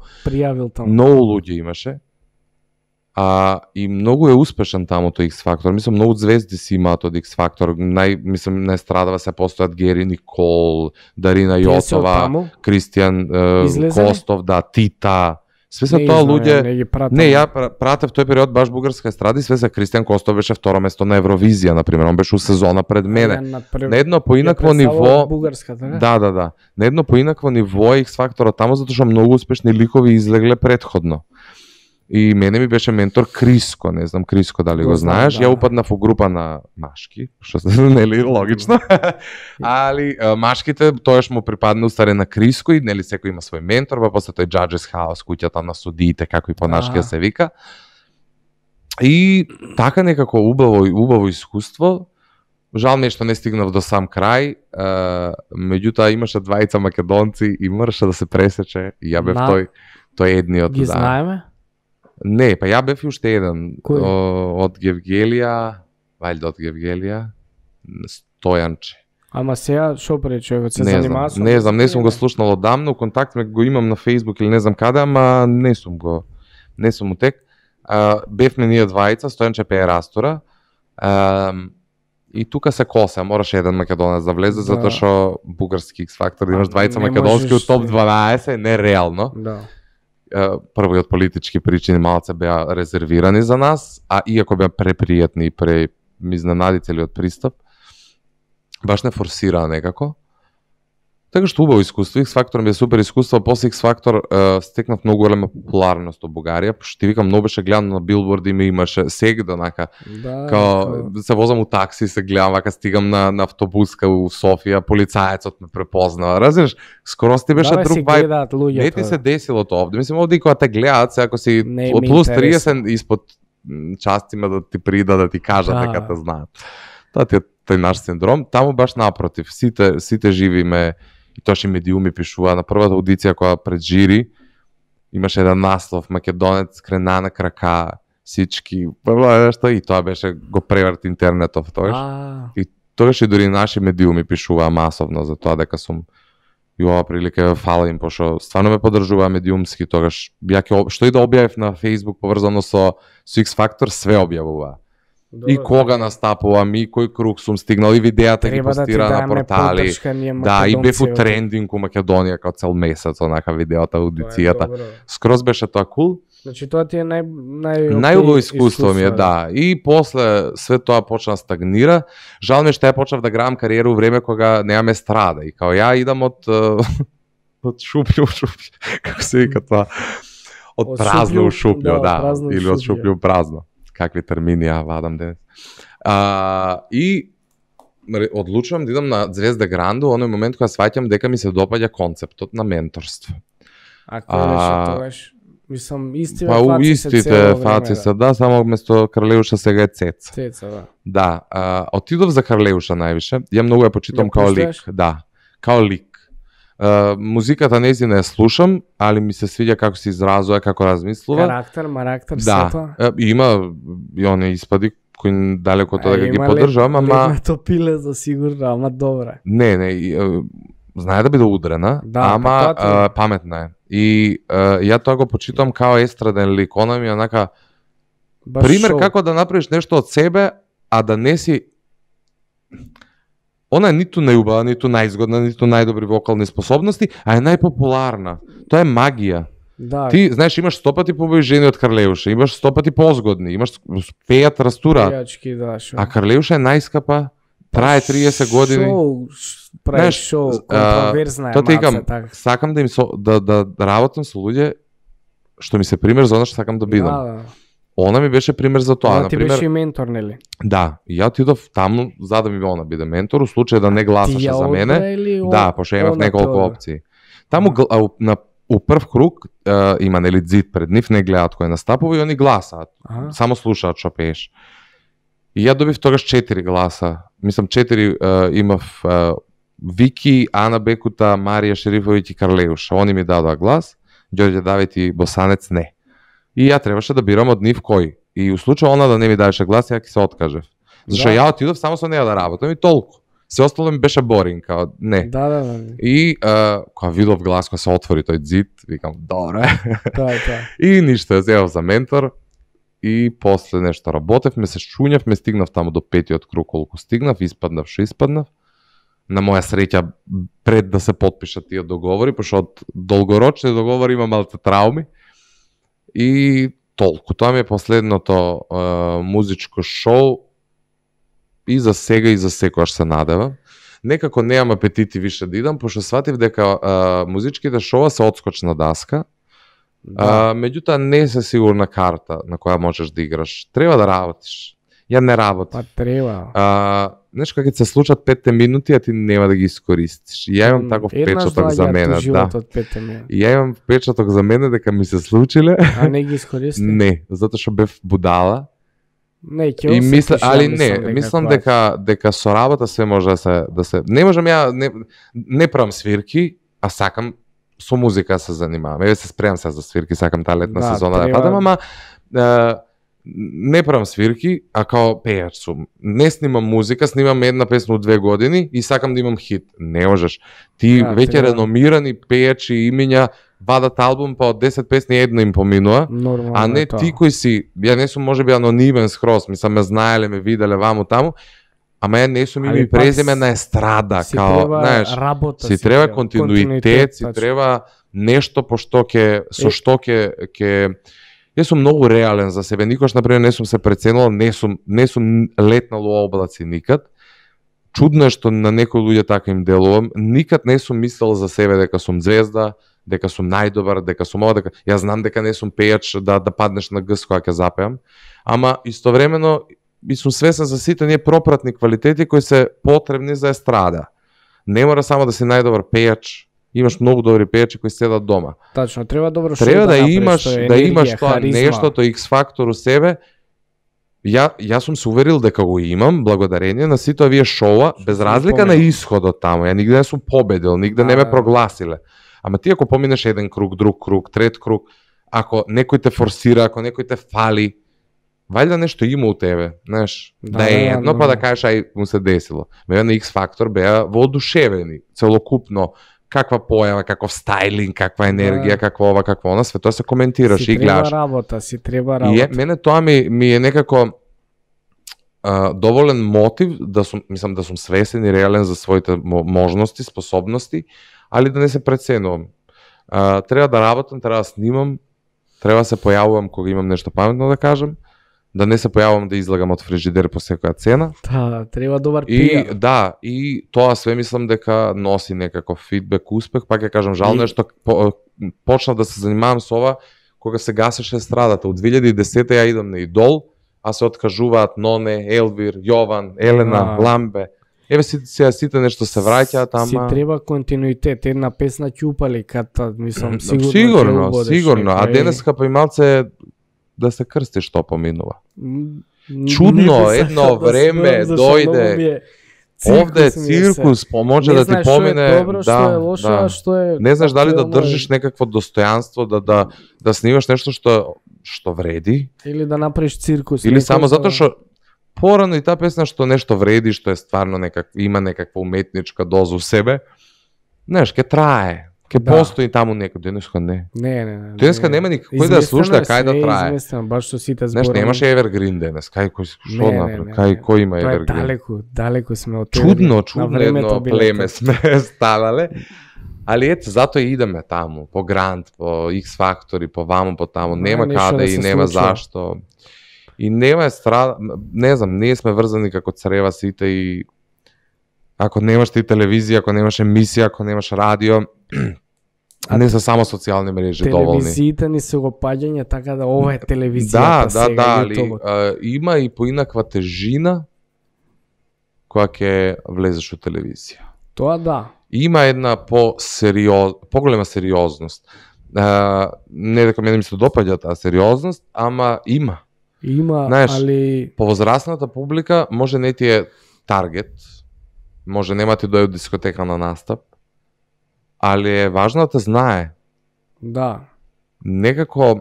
Многу луѓе имаше. А, и многу е успешен таму тој X Factor. Мислам, многу звезди си имаат од X Factor. Нај, мислам, не страдава се постојат Гери Никол, Дарина Јотова, Кристијан е, Костов, да, Тита. Све се тоа луѓе. Не, не, ја пратев тој период баш бугарска естради, све се Кристијан Костов беше второ место на Евровизија, на пример, он беше у сезона пред мене. На едно поинакво ниво. Да, да, да. На едно поинакво ниво X Factor таму затоа што многу успешни ликови излегле предходно. И мене ми беше ментор Криско, не знам Криско дали го, го знаеш, да. Ја упаднав у група на машки, што нели логично. Али машките тоаш му припадна устаре на Криско и нели секој има свој ментор, па после тој Judges House, куќата на судиите, како и по нашки да се вика. И така некако убаво убаво искуство. Жал ми е што не стигнав до сам крај, меѓутоа имаше двајца македонци и мораше да се пресече и ја бев на... тој тој едниот. Ги да. Знаеме? Не, па ја бев уште еден о, од Гевгелија, вајде од Гевгелија, Стојанче. Ама сега шо прави човекот, се не занимава со? Не знам, не сум го слушнал одамно, контакт ме го имам на Facebook или не знам каде, ама не сум го, не сум утек. А, бевме ние двајца, Стојанче пее Растора, а, и тука се коса, мораше еден македонец да влезе, да. Затоа што бугарски X Factor, имаш двајца македонски од топ дванаесет, не реално. Да. Прво и од политички причини малце беа резервирани за нас, а иако беа препријатни и пре изненадители од пристап, баш не форсираа некако. Така што убаво искуство, X Factor ми е супер искуство, после X Factor е, стекнав многу голема популарност од Бугарија, пошто ти викам, многу беше гледано на билборди, ме имаше сегда, нака, да, као, да. Се возам у такси, се гледам, вака стигам на, на автобуска у Софија, полицаецот ме препознава, разбираш, скоро ти беше да, друг вајб, не ти се десило тоа овде, мислам, овде и кога те гледат, се ако си од плюс триесет испод частима да ти прида, да ти кажат да. Дека те знаат. Тоа ти е тој наш синдром, таму баш напротив, сите, сите живиме. И тоа ше медиуми пишува на првата аудиција која пред жири имаше еден наслов македонец крена на крака сички нешто и тоа беше го преврт интернетов тоаш. И тогаш и дури наши медиуми пишуваа масовно за тоа дека сум и ова прилика фала им пошто стварно ме поддржуваа медиумски тогаш ја ќе што и да објавив на Facebook поврзано со со X Factor све објавуваа. Добре, и кога настапувам, и кој круг сум стигнал, и видеата ги постира да на портали. Да, и бев у трендинг у Македонија како цел месец, онака видеото, аудицијата. Скроз беше тоа кул. Значи тоа ти е нај нај најубаво искуство ми е, да. И после све тоа почна стагнира. Жал ми што ја почнав да градам кариера у време кога немаме страда и као ја идам од од шуплју у шуплју, како се вика тоа. Од празно у шуплју, да, или од шуплју у празно. Какви термини ја вадам денес. А, и одлучувам да идам на Звезда Гранду, оној момент кога сваќам дека ми се допаѓа концептот на менторство. А кој беше тогаш? Мислам, истите па, фаци истите се цело фаци време, се, да, само вместо Карлеуша сега е Цеца. Цеца, да. Да, а, отидов за Карлеуша највише. Ја многу ја почитам као лик, да, као лик. Uh, музиката нејзина ја слушам, али ми се свиѓа како се изразува, како размислува. Карактер, марактер, да. сето. Да, има и они испади кои далеко тоа дека ги поддржувам, ама летното пиле за сигурно, ама добре. Не, не, и, uh, знае да биде удрена, да, ама uh, паметна е. И uh, ја тоа го почитам као естраден лик, она ми онака баш пример шоу. Како да направиш нешто од себе, а да не си она е ниту најубава, ниту најизгодна, ниту најдобри вокални способности, а е најпопуларна. Тоа е магија. Да. Ти, знаеш, имаш сто пати побои жени од Карлеуша, имаш сто пати позгодни, имаш пејат, растураат. Пејачки, да, шо. А Карлеуша е најскапа, трае триесет години. Шоу, прави шоу, контроверзна е маца, така. Сакам да им со, да, да работам со луѓе што ми се пример за она што сакам да бидам. Да, да. Она ми беше пример за тоа, Она на ти пример. беше и ментор, нели? Да, и ја отидов таму за да ми она биде ментор, у случај да не гласаше за мене. Да, пошто имав неколку опции. Таму гл- а, у- на у прв круг е, има нели зид пред нив, не гледаат кој настапува и они гласаат. Аха. Само слушаат што пееш. И ја добив тогаш четири гласа. Мислам четири е, имав е, Вики, Ана Бекута, Марија Шерифовиќ и Карлеуш. Они ми дадоа глас, Ѓорѓе Давид и Босанец не. И ја требаше да бирам од нив кој. И у случај она да не ми даваше глас, ја ќе се откажев. Зашто Да. ја отидов само со неа да работам и толку. Се остало ми беше боринг, као не. Да, да, да. И а, кога видов глас, кога се отвори тој зид, викам, добре. Тоа е тоа. И ништо, ја зевав за ментор. И после нешто работев, ме се шуњав, ме стигнав таму до петиот круг, колку стигнав, испаднав, шо испаднав. На моја среќа, пред да се потпишат тие договори, пошто од долгорочни договори има малце трауми. И толку. Тоа ми е последното е, музичко шоу и за сега и за секојаш се надевам. Некако неам апетити више да идам, пошто сватив дека е, музичките шоуа се одскочна даска. Да. А, меѓутоа не се сигурна карта на која можеш да играш. Треба да работиш. Ја не работам. Па треба. А, знаеш кога ќе се случат петте минути, а ти нема да ги искористиш. И ја имам таков печаток за мене, да. И ја имам печаток за мене дека ми се случиле. А не ги искористи? Не, затоа што бев будала. Не, ќе И мисля, осетиш, ја али мислам не, дека мислам тоа е. дека дека со работа се може да се да се не можам ја не не правам свирки, а сакам со музика да се занимавам. Еве се спремам се за свирки, сакам таа летна Да, сезона да треба- падам, ама е, не правам свирки, а као пејач сум. Не снимам музика, снимам една песна од две години и сакам да имам хит. Не можеш. Ти Да, веќе треба- реномирани пејачи имиња вадат албум, па од десет песни една им поминува. Нормално А не е тоа. ти кој си, ја не сум можеби анонимен скроз, мислам ме знаеле, ме виделе ваму таму, ама ја не сум име Али и пак презиме с- на естрада, Си као, треба знаеш, работа, си треба континуитет, си тачно. треба нешто по што ќе со Е. што ќе ќе Јас сум многу реален за себе, никош например не сум се преценувал, не сум не сум летнал у облаци никад. Чудно е што на некои луѓе така им делувам, никад не сум мислел за себе дека сум звезда, дека сум најдобар, дека сум ова, дека ја знам дека не сум пејач да да паднеш на гс кога ќе запеам, ама истовремено и сум свесен за сите ние пропратни квалитети кои се потребни за естрада. Не мора само да си најдобар пејач, имаш многу добри пејачи кои седат дома. Тачно, треба добро шоу Треба да, направиш, имаш тоа е да енергија, имаш тоа харизма. нештото X фактор у себе. Ја јас сум се уверил дека го имам благодарение на сите овие шоуа, без сум разлика на поминал. исходот таму. Ја нигде не сум победил, нигде не ме Да. прогласиле. Ама ти ако поминеш еден круг, друг круг, трет круг, ако некој те форсира, ако некој те фали, вајда нешто има у тебе, знаеш, да, Да, да е да, едно, да. па да кажеш ај му се десило. Меѓу на X фактор беа воодушевени, целокупно, каква појава, каков стајлинг, каква енергија, Да. каква ова, каква она, све тоа се коментираш Си и гледаш. треба работа, си треба И работа. е, мене тоа ми, ми е некако а, доволен мотив да сум, мислам да сум свесен и реален за своите мо- можности, способности, али да не се преценувам. А, треба да работам, треба да снимам, треба да се појавувам кога имам нешто паметно да кажам, да не се појавувам да излагам од фрижидер по секоја цена. Да, треба добар И пиар. да, и тоа све мислам дека носи некаков фидбек, успех, пак ќе кажам жално И- е што по, почнав да се занимавам со ова кога се гасеше естрадата. Од две илјади и десета ја идам на Идол, а се откажуваат Ноне, Елвир, Јован, Елена, Да. Ламбе. Еве си сега сите нешто се враќаат, Си ама треба континуитет, една песна ќе упали ката, мислам, сигурно. ќе сигурно, убодеш сигурно. А некој. денеска па и малце да се крсти што поминува. М, Чудно, не би едно сакал да време смеам, зашто дојде. многу ми е Овде е циркус ми е се. циркус, по- може Не да ти знаеш што помине, е добро, што да, е лошо, да. а што е Не знаеш дали да актуелно држиш некакво достојанство, да да да снимаш нешто што што вреди, или да направиш циркус. или некој само за- затоа што порано и таа песна што нешто вреди, што е стварно некак има некаква уметничка доза у себе. Знаеш, ќе трае, ќе Да. постои таму некој, денеска не. Не, не, не. Денеска нема никој кој да ја слуша, кај да трае. Изместено, баш што сите Знаеш, зборови. немаше Evergreen денес, кај кој што Не, не, направи, не, кај не. кој има Тоа е Evergreen. далеку, далеку сме од Чудно, На чудно времето едно биле племе тоа. сме станале. Али ето, затоа и идеме таму, по Грант, по X Factor и по ваму, по таму. Да, Нема нешто каде да и се нема случува. зашто. И нема естрада, не знам, ние сме врзани како црева сите и ако немаш ти телевизија, ако немаш емисија, ако немаш радио, Не се само социјални мрежи доволни. Телевизиите ни се го паѓање, така да ова е телевизијата да, да, сега, да, али YouTube. а, има и поинаква тежина која ќе влезеш во телевизија. Тоа да. Има една по сериоз, поголема сериозност. А, не дека мене ми се допаѓа таа сериозност, ама има. Има, Знаеш, али Повозрасната публика може не ти е таргет, може нема ти дојде од дискотека на настап, али е важно да те знае. да. Некако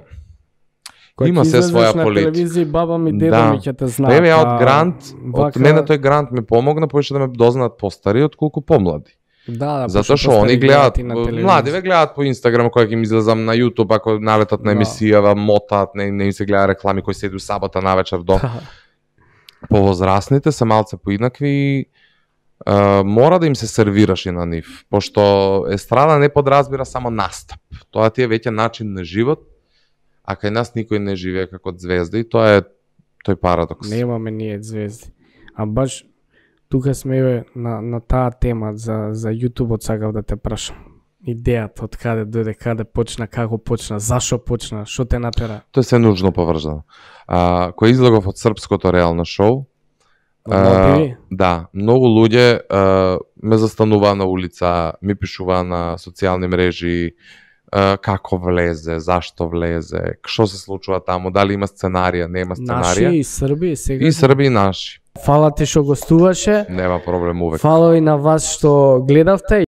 Кога има ќе се излезеш своја на политика. телевизија, баба ми, деда Да. ми ќе те знаат. Еве ја од а, грант, од вака- мене тој грант ми помогна повеќе да ме дознаат постари отколку помлади. Да, да, Затоа што пошто они постари гледаат, и на телевизија. млади ве гледаат по Инстаграм кој ќе им излезам на Јутуб, ако налетат на Да. емисија, мотаат, не, не им се гледа реклами кои седу сабота навечер до. Повозрасните се малце поинакви и Uh, мора да им се сервираш и на нив, пошто естрада не подразбира само настап. Тоа ти е веќе начин на живот, а кај нас никој не живее како звезда и тоа е тој парадокс. Немаме ние звезди. А баш тука сме еве на на таа тема за за јутубот сакав да те прашам. Идејата од каде дојде, каде почна, како почна, зашо почна, што те натера? Тоа е се нужно поврзано. А, кој излегов од српското реално шоу, Uh, да, многу луѓе а, ме застануваа на улица, ми пишуваа на социјални мрежи а, како влезе, зашто влезе, што се случува таму, дали има сценарија, нема сценарија. Наши и Срби сега. И Срби и наши. Фала ти што гостуваше. Нема проблем увек. Фала и на вас што гледавте.